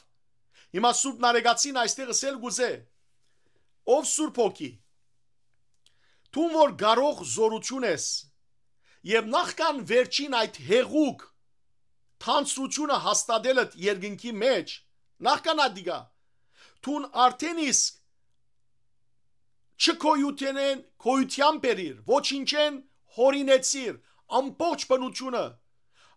Հիմա Սուրբ Նարեկացին այստեղ ըսել կ'ուզէ. «Ով Սուրբ Հոգի, դուն, որ կարող զորութիւն ես, եւ նախքան վերջին այդ հեղուկ թանձրութիւնը հաստատելդ երկինքի մէջ, նախքան ատիկա, դուն արդէն իսկ չգոյութենէն գոյութեան բերիր, ոչինչէն հորինեցիր ամբողջ բնութիւնը,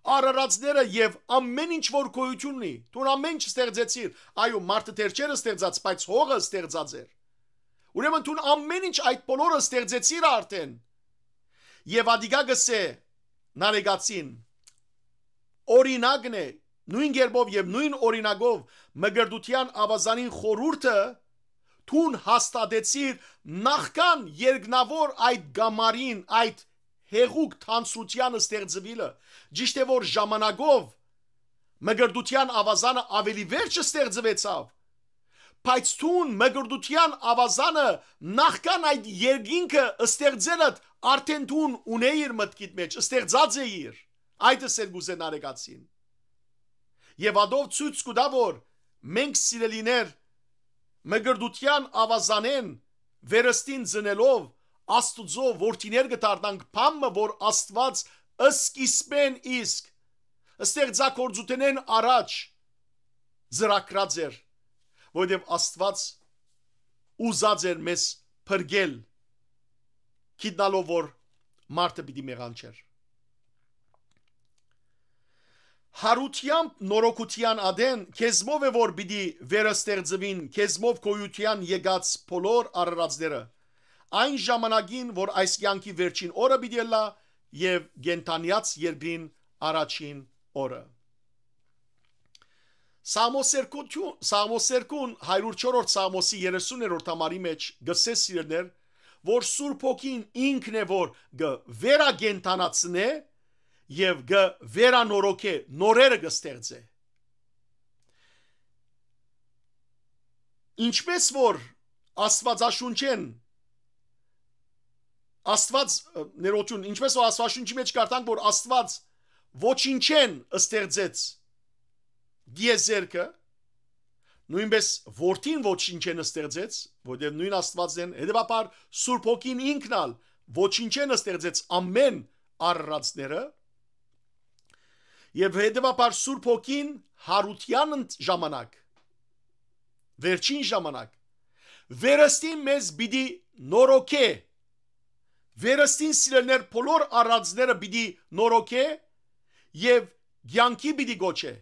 արարածները եւ ամէն ինչ որ գոյութիւն ունի, դուն ամէն ինչ ստեղծեցիր, այո, մարդը դեռ չէր ստեղծած, բայց հողը ստեղծած էր։ Ուրեմն դուն ամէն ինչ, այդ բոլորը ստեղծեցիր արդէն»։ Եւ ատիկա կ'ըսէ Նարեկացին, օրինակն է, նոյն կերպով եւ նոյն օրինակով մկրտութեան աւազանին խորհուրդը դուն հաստատեցիր նախքան երկնաւոր այդ գամարին, այդ հեղուկ թանձրութեան ստեղծուիլը, ճիշդ է, որ ժամանակով մկրտութեան աւազանը աւելի վերջ ստեղծուեցաւ, բայց դուն մկրտութեան աւազանը նախքան այդ երկինքը ստեղծելդ արդէն դուն ունէիր մտքիդ մէջ, ստեղծած էիր։ Այդ ըսել կ'ուզէ Նարեկացին։ Եւ ադով ցոյց կու տայ, որ մենք, սիրելիներ, մկրտութեան աւազանէն վերստին ծնելով, Աստուծոյ որդիներ կը դառնանք, բան մը, որ Աստուած սկիզբէն իսկ, ստեղծագործութենէն առաջ ծրագրած էր, որովհետեւ Աստուած ուզած էր մեզ փրկել, գիտնալով, որ մարդը պիտի մեղանչէր։ Յարութեամբ նորոգութեան ատեն, քեզմով է որ պիտի վերստեղծուին, քեզմով գոյութեան եկած բոլոր արարածները, այն ժամանակին որ այս կեանքի վերջին օրը պիտի ըլլայ եւ կենդանեաց երկրին առաջին օրը։ Սաղմոսերկուն, Սաղմոսերկուն հարիւր չորրորդ Սաղմոսի երեսուններորդ համարի մէջ գսե, սիրելիներ, որ Սուրբ Հոգին ինքն է որ կը վերակենդանացնէ եւ կը վերանորոգէ, նորերը կը ստեղծէ։ Ինչպէս որ Աստուածաշունչէն, Աստուած, ը, ներողություն, ինչպէս որ Աստուածաշունչի մէջ կարդանք որ Աստուած ոչինչէն ստեղծեց դիեզերքը, նոյնպէս որդին ոչինչէն ստեղծեց, որտեղ նոյն Աստուածն են, հետեւաբար Սուրբ Հոգին ինքն ալ ոչինչէն ստեղծեց ամեն արարածները, եւ հետեւաբար Սուրբ Հոգին յարութեան ընդ ժամանակ, վերջին ժամանակ, վերստին մեզ պիտի նորոգէ, վերստին, սիրելիներ, բոլոր արարածները պիտի նորոգէ եւ կեանքի պիտի գոչէ։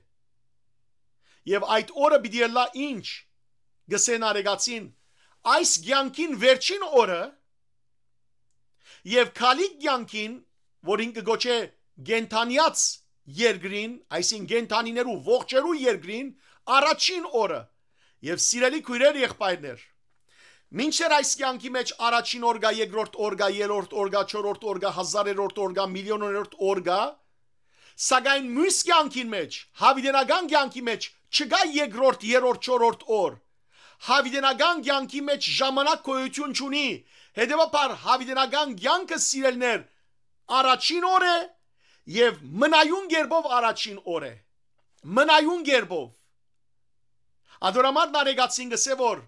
Եւ այդ օրը պիտի ըլլայ ինչ, գսեն արեգացին, այս կեանքին վերջին օրը, եւ քալիք կեանքին, որ ինքը գոչէ կենդանեաց երկրին, այսինքն կենդանիներու, ողջերու երկրին, առաջին օրը։ Եւ սիրելի քոյրեր, եղբայրներ, մինչդեռ այս կեանքի մէջ առաջին օր կայ, երկրորդ օր կայ, երրորդ օր կայ, չորրորդ օր կայ, հազարերորդ օր կայ, միլիոներորդ օր կայ, սակայն միւս կեանքին մէջ, յաւիտենական կեանքի մէջ չկայ երկրորդ, երրորդ, չորրորդ օր։ Յաւիտենական կեանքի մէջ ժամանակ գոյութիւն չունի, հետեւաբար յաւիտենական կեանքը, սիրելիներ, առաջին օր է եւ մնայուն կերպով առաջին օր է։ Մնայուն կերպով։ Ադորամար Նարեկացին գսե որ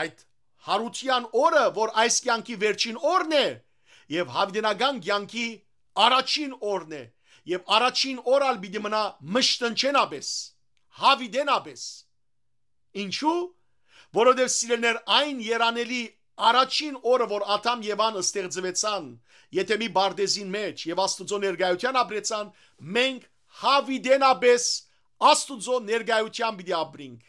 այդ յարութեան օրը, որ այս կեանքի վերջին օրն է, եւ յաւիտենական կեանքի առաջին օրն է, եւ առաջին օր ալ պիտի մնայ մշտնջենապէս, յաւիտենապէս։ Ինչու՞։ Որովհետեւ, սիրելիներ, այն երանելի առաջին օրը, որ Ադամ Եվան ստեղծուեցան Եդեմի պարտէզին մէջ եւ Աստուծոյ ներկայութեան ապրեցան, մենք յաւիտենապէս Աստուծոյ ներկայութեան պիտի ապրինք։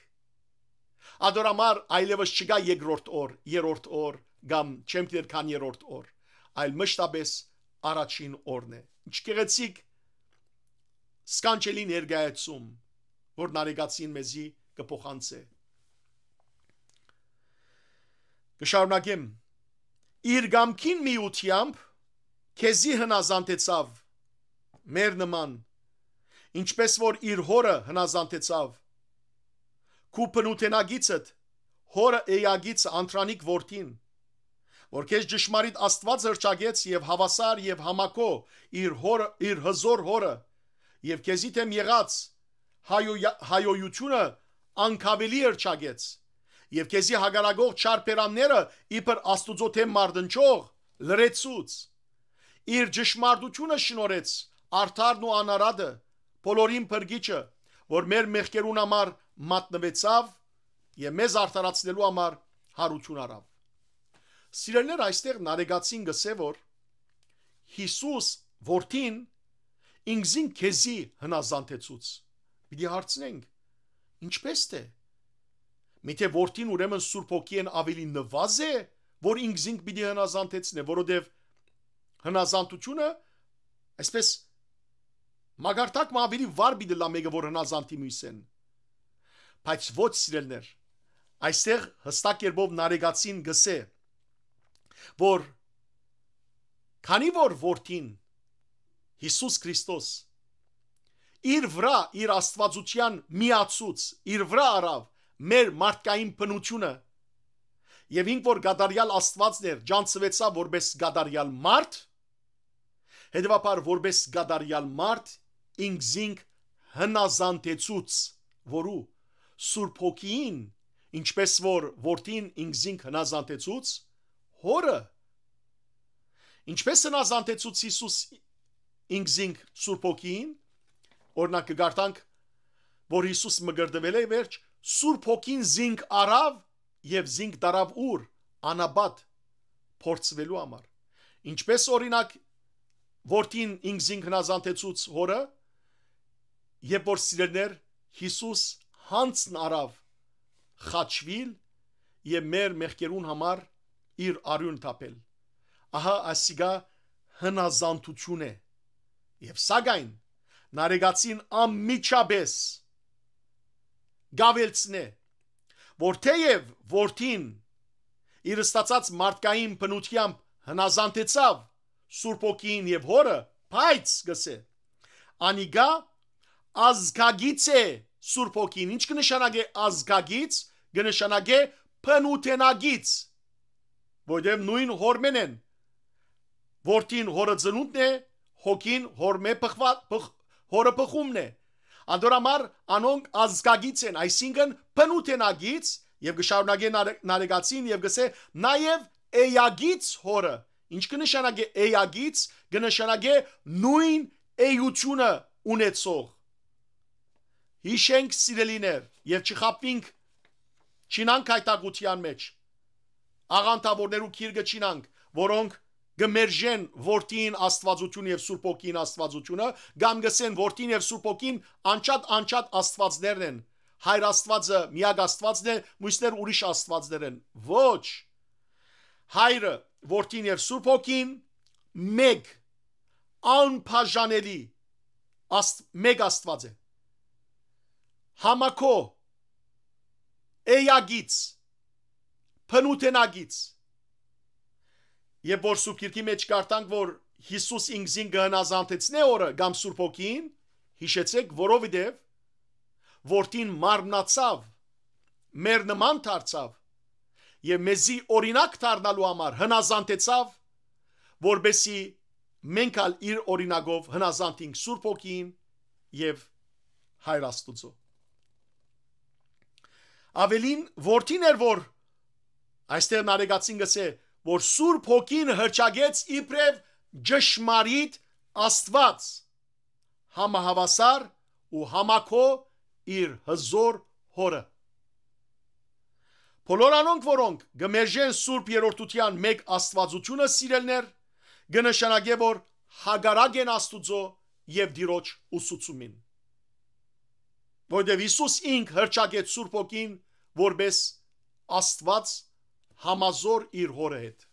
Ադոր համար այլեւս չկայ երկրորդ օր, երրորդ օր կամ չեմ գիտեր քան երրորդ օր, այլ մշտապէս առաջին օրն է։ Ինչ գեղեցիկ, սքանչելի ներկայացում, որ Նարեկացին մեզի կը փոխանցէ։ Կը շարունակեմ։ Իր կամքին միութեամբ քեզի հնազանդեցաւ, մեր նման, ինչպես որ իր հօրը հնազանդեցաւ, քու բնութենակիցդ, հօրը էակիցը, Անդրանիկ որդին, որ քեզ ճշմարիտ Աստուած հրճակեց եւ հաւասար եւ համակո իր հօրը, իր հզոր հօրը, եւ քեզի դէմ եղած հայոյա-, հայոյութիւնը անկաւելի հրճակեց, եւ քեզի հակառակող չար բերանները իբր Աստուծոյ դէմ մարտնչող լրեցուց։ Իր ճշմարտութիւնը շնորհեց արդարն ու անարատը, բոլորին փրկիչը, որ մեր մեղքերուն համար մատնուեցաւ եւ մեզ արդարացնելու համար յարութիւն առաւ։ Սիրելիներ, այստեղ Նարեկացին գսե որ Յիսուս որդին ինքզին քեզի հնազանդեցուց։ Պիտի հարցնենք, ինչպես թե։ Միթե որդին ուրեմն Սուրբ Հոգիէն աւելի նուազ է, որ ինքզինք պիտի հնազանդեցնէ, որովհետեւ հնազանդությունը, այսպես, մակարդակ մը աւելի վառ պիտի լա մեկը, որ հնազանդի մյուսեն։ Բայց ոչ, սիրելիներ, այստեղ յստակ կերպով Նարեկացին գսե, որ քանի որ որդին Յիսուս Քրիստոս իր վրայ, իր Աստուածութեան միացուց, իր վրայ առաւ մեր մարդկային բնութիւնը, եւ ինք որ կատարեալ Աստուածն էր, ճանչցուեցաւ որպես կատարեալ մարդ, հետեւաբար որպես կատարեալ մարդ ինքզինք հնազանդեցուց, որու Սուրբ Հոգին, ինչպես որ որդին ինքզինք հնազանդեցուց հօրը, ինչպես հնազանդեցուց Յիսուս ինքզինք Սուրբ Հոգին, օրինակ կը կարդանք, որ Յիսուս մկրտվել է, վերջ, Սուրբ Հոգին զինք առաւ եւ զինք տարաւ ուր, անապատ փորձուելու համար։ Ինչպես օրինակ որդին ինքզինք հնազանդեցուց հօրը, երբ որ, սիրելիներ, Յիսուս յանձն առաւ խաչուիլ եւ մեր մեղքերուն համար իր արիւն թափել։ Ահա ասիկա հնազանդութիւն է։ Եւ սակայն Նարեկացին անմիջապէս կ'աւելցնէ, որ թէեւ որդին իր ստացած մարդկային բնութեամբ հնազանդեցաւ Սուրբ Հոգիին եւ Հօրը, բայց, կ'ըսէ, անիկա ազգագիծ է Սուրբ Հոգին։ Ինչ կը նշանակէ ազգագիծ? Կը նշանակէ բնութենակից, որտեղ նոյն Հօրմէն են։ Որդին Հօրը ծնունդն է, Հոգին Հօրմէ բխուած, բխ-, Հօրը բխումն է։ Անդոր համար անոնք ազգագիծ են, այսինքն բնութենակից, եւ կը շարունակէ Նարե-, Նարեկացին եւ կ'ըսէ, նաեւ էակից Հօրը։ Ինչ կը նշանակէ էակից? Կը նշանակէ նոյն էությունը ունեցող։ Յիշենք, սիրելիներ, եւ չխաբուինք, չինանք այդ աղութեան մէջ, աղանդաւորներու գիրկը չինանք, որոնք կը մերժեն որդին Աստուածութիւնը եւ Սուրբ Հոգին Աստուածութիւնը, կամ կ'ըսեն, որդին եւ Սուրբ Հոգին անջատ, անջատ աստուածներն են։ Հայր Աստուածը միակ Աստուածն է, մյուսներ ուրիշ աստուածներ են։ Ոչ։ Հայրը, որդին եւ Սուրբ Հոգին մէկ, անբաժանելի աստ-, մէկ Աստուած է։ Համակո, էակից, բնութենակից։ Երբ որ Սուրբ Գիրքի մէջ կարդանք, որ Յիսուս ինքզին կը հնազանդեցնէ Հօրը կամ Սուրբ Հոգին, յիշեցէք, որովհետեւ որդին մարմնացաւ, մեր նման դարձաւ եւ մեզի օրինակ դառնալու համար հնազանդեցաւ, որպեսզի մենք ալ իր օրինակով հնազանդենք Սուրբ Հոգին եւ Հայր Աստուծոյ։ Աւելին, որդին էր, որ այստեղ Նարեկացին կ'ըսէ, որ Սուրբ Հոգին հռչակեց իբրեւ ճշմարիտ Աստուած, համահաւասար ու համակո իր հզօր Հօրը։ Բոլոր անոնք, որոնք կը մերժեն Սուրբ Երրորդութեան մէկ Աստուածութիւնը, սիրելիներ, կը նշանակէ, որ հակառակ են Աստուծոյ եւ Տիրոջ ուսուցումին։ Որտեւ Յիսուս ինք հռչակեց Սուրբ Հոգին որպէս Աստուած համազոր իր Հօրը հետ,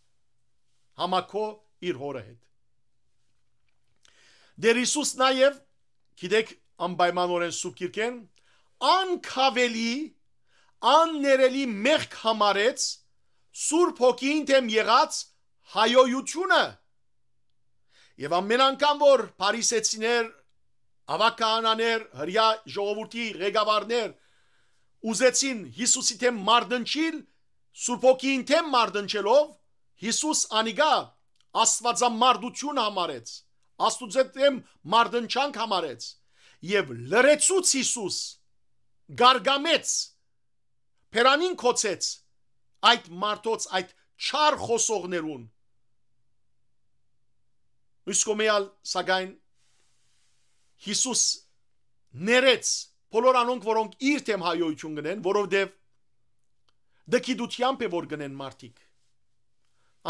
համակո իր Հօրը հետ։ Տէր Յիսուս նաեւ, գիտեք, անպայմանօրէն Սուրբ Գիրքէն, անկաւելի, աններելի մեղք համարեց Սուրբ Հոգիին դէմ եղած հայոյութիւնը։ Եւ ամէն անգամ որ փարիսեցիներ, աւագահանաներ, հրեայ ժողովուրդի ղեկավարներ ուզեցին Յիսուսի դէմ մարտնչիլ, Սուրբ Հոգիին դէմ մարտնչելով, Յիսուս անիկա աստուածամարդութիւն համարեց, Աստուծոյ դէմ մարտնչանք համարեց եւ լռեցուց Յիսուս, գարգամեց, բերանին գոցեց այդ մարդոց, այդ չար խօսողներուն։ Մյուս կողմէ ալ, սակայն, Յիսուս ներեց բոլոր անոնք, որոնք իր դէմ հայոյութիւն կ'ընեն, որովհետեւ դգիտութեամբ է որ կ'ընեն մարդիկ։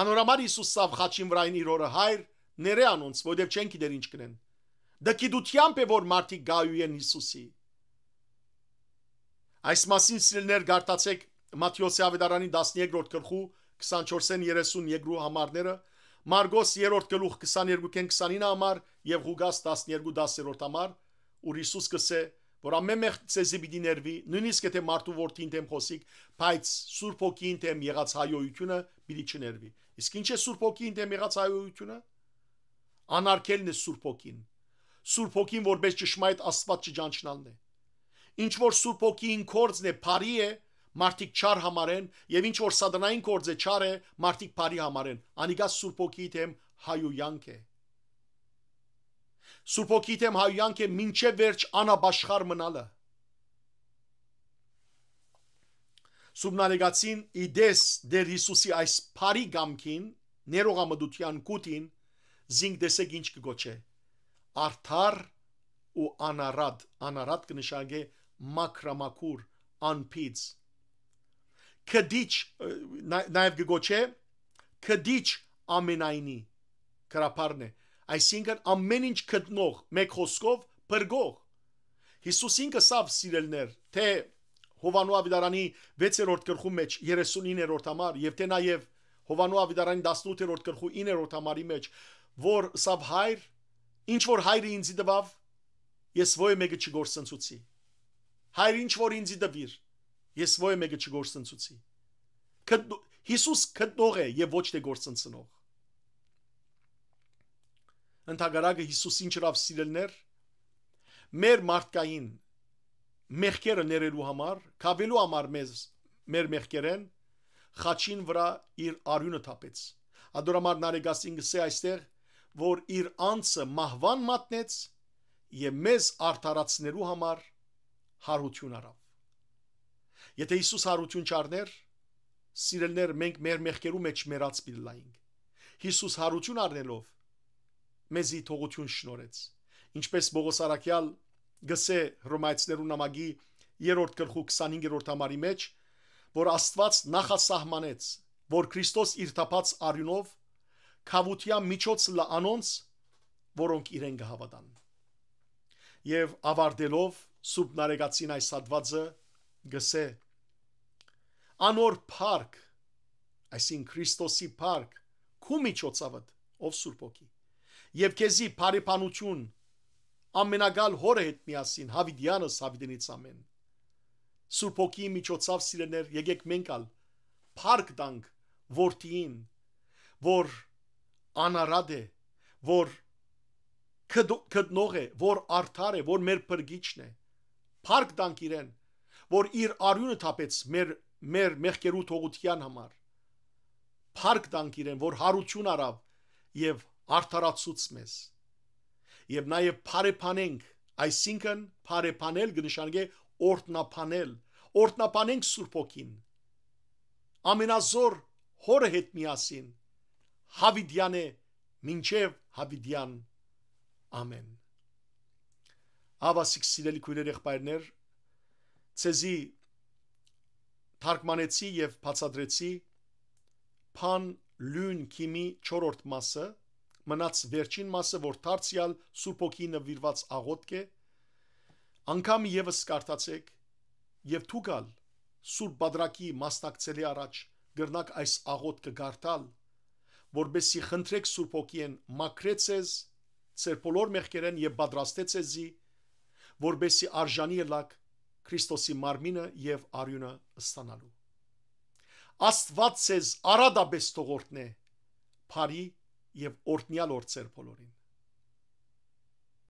Անոր համար Յիսուս սավ խաչին վրայ իր Հօրը, Հայր, ներէ անոնց, որովհետեւ չեն գիտեր ինչ կ'ընեն։ Դգիտութեամբ է որ մարդիկ կ'այոյեն Յիսուսի։ Այս մասին, սիրելիներ, կարդացէք Մատթէոսի աւետարանի տասներկրորդ գլխու քսանչորսէն երեսուն երկու համարները, Մարկոս երրորդ գլուխ քսաներկուքէն քսանինը համար եւ Ղուկաս տասներկու տասերորդ համար, ուր Յիսուս կ'ըսէ, որ ամէն մեղք ձեզի պիտի ներուի, նոյնիսկ եթէ մարդու որդին դէմ խօսիք, բայց Սուրբ Հոգին դէմ եղած հայոյութիւնը պիտի չներուի։ Իսկ ի՞նչ է Սուրբ Հոգին դէմ եղած հայոյութիւնը։ Անարգելն է Սուրբ Հոգին։ Սուրբ Հոգին որպէս ճշմարիտ Աստուած չճանչնալն է։ Ինչ որ Սուրբ Հոգին գործն է, բարի է, մարդիկ չար համարեն, եւ ինչ որ սատանային գործ է, չար է, մարդիկ բարի համարեն։ Անիկա Սուրբ Հոգի դէմ հայոյանք է։ Սուրբ Հոգի դէմ հայոյանք է մինչեւ վերջ անապաշխար մնալը։ Սուրբ Նարեկացին, ի տես Տէր Յիսուսի այս բարի կամքին, ներողամտութեան կութին, զինք տեսեք ինչ կը կոչէ. արդար ու անարատ, անարատ կը նշանակէ մաքրամաքուր, անբիծ։ Քդիչ, ը, նա-, նաեւ կը կոչէ քդիչ ամենայնի, գրաբարն է, այսինքն ամէն ինչ գտնող, մէկ խօսքով, փրկող։ Յիսուս ինքը ըսաւ, սիրելիներ, թէ Յովհաննու աւետարանի վեցերորդ գլխու մէջ երեսունիններորդ համար եւ թէ նաեւ Յովհաննու աւետարանի տասնութերորդ գլխու իններորդ համարի մէջ, որ ըսաւ, «Հայր, ինչ որ Հայրը ինծի տուաւ, ես ոյ մէկը չկորսնցուցի։ Հայր, ինչ որ ինծի տուիր, ես ոյ մէկը չկորսնցուցի»։ Գտ-, Յիսուս գտնող է եւ ոչ թէ կորսնցնող։ Ընդհակառակը, Յիսուս ինչ ըրաւ, սիրելիներ, մեր մարդկային մեղքերը ներելու համար, կաւելու համար մեզ, մեր մեղքերէն, խաչին վրայ իր արիւնը թափեց։ Ատոր համար Նարեկասին կսէ այստեղ, որ իր անձը մահուան մատնեց եւ մեզ արդարացնելու համար յարութիւն առաւ։ Եթէ Յիսուս յարութիւն չառներ, սիրելիներ, մենք մեր մեղքերու մէջ մեռած պիտի լայինք։ Յիսուս յարութիւն առնելով, մեզի թողութիւն շնորհեց։ Ինչպէս Պողոս Առաքեալ կսէ Հռոմայեցիներու նամակի երրորդ գլխու քսանհինգերորդ համարի մէջ, որ Աստուած նախասահմանեց, որ Քրիստոս իր թափած արիւնով գաւութեան միջոց լա անոնց, որոնք իրեն կը հաւատան։ Եւ աւարտելով, Սուրբ Նարեկացին այս հատուածը կսէ. «Անոր փառք», այսինքն Քրիստոսի փառք, քու միջոցավդ, ով Սուրբ Հոգի, «եւ քեզի բարեբանություն ամենակալ Հօրը հետ միասին, յաւիտեանս յաւիտենից ամէն»։ Սուրբ Հոգիի միջոցաւ, սիրելիներ, եկեք մենք ալ փառք տանք Որդիին, որ անարատ է, որ գտ-, գտնող է, որ արդար է, որ մեր փրկիչն է։ Փառք տանք իրեն, որ իր արիւնը թափեց մեր, մեր մեղքերու թողութեան համար։ Փառք տանք իրեն, որ յարութիւն առաւ եւ արդարացուց մեզ։ Եւ նաեւ բարեբանենք, այսինքն բարեբանել կը նշանակէ օրհնաբանել, օրհնաբանենք Սուրբ Հոգին, ամենազոր Հօրը հետ միասին, յաւիտեան է մինչեւ յաւիտեան։ Ամէն։ Ահա, սիրելի քոյրեր, եղբայրներ, ձեզի թարգմանեցի եւ բացատրեցի Բան Լուն Քիմի չորրորդ մասը, մնաց վերջին մասը, որ դարձեալ Սուրբ Հոգի նուիրված աղօթք է, անգամ եւս կարդացեք, եւ դուք ալ Սուրբ Պատրակի մասնակցելի առաջ կրնաք այս աղօթքը կարդալ, որպեսզի խնդրեք Սուրբ Հոգիեն մաքրե ձեզ ձեր բոլոր մեղքերէն եւ պատրաստե ձեզի, որպեսզի արժանի ըլլաք Քրիստոսի մարմինը եւ արիւնը ստանալու։ Աստուած ձեզ արատապէս թող օրհնէ, բարի եւ օրհնեալ օր ձեր բոլորին։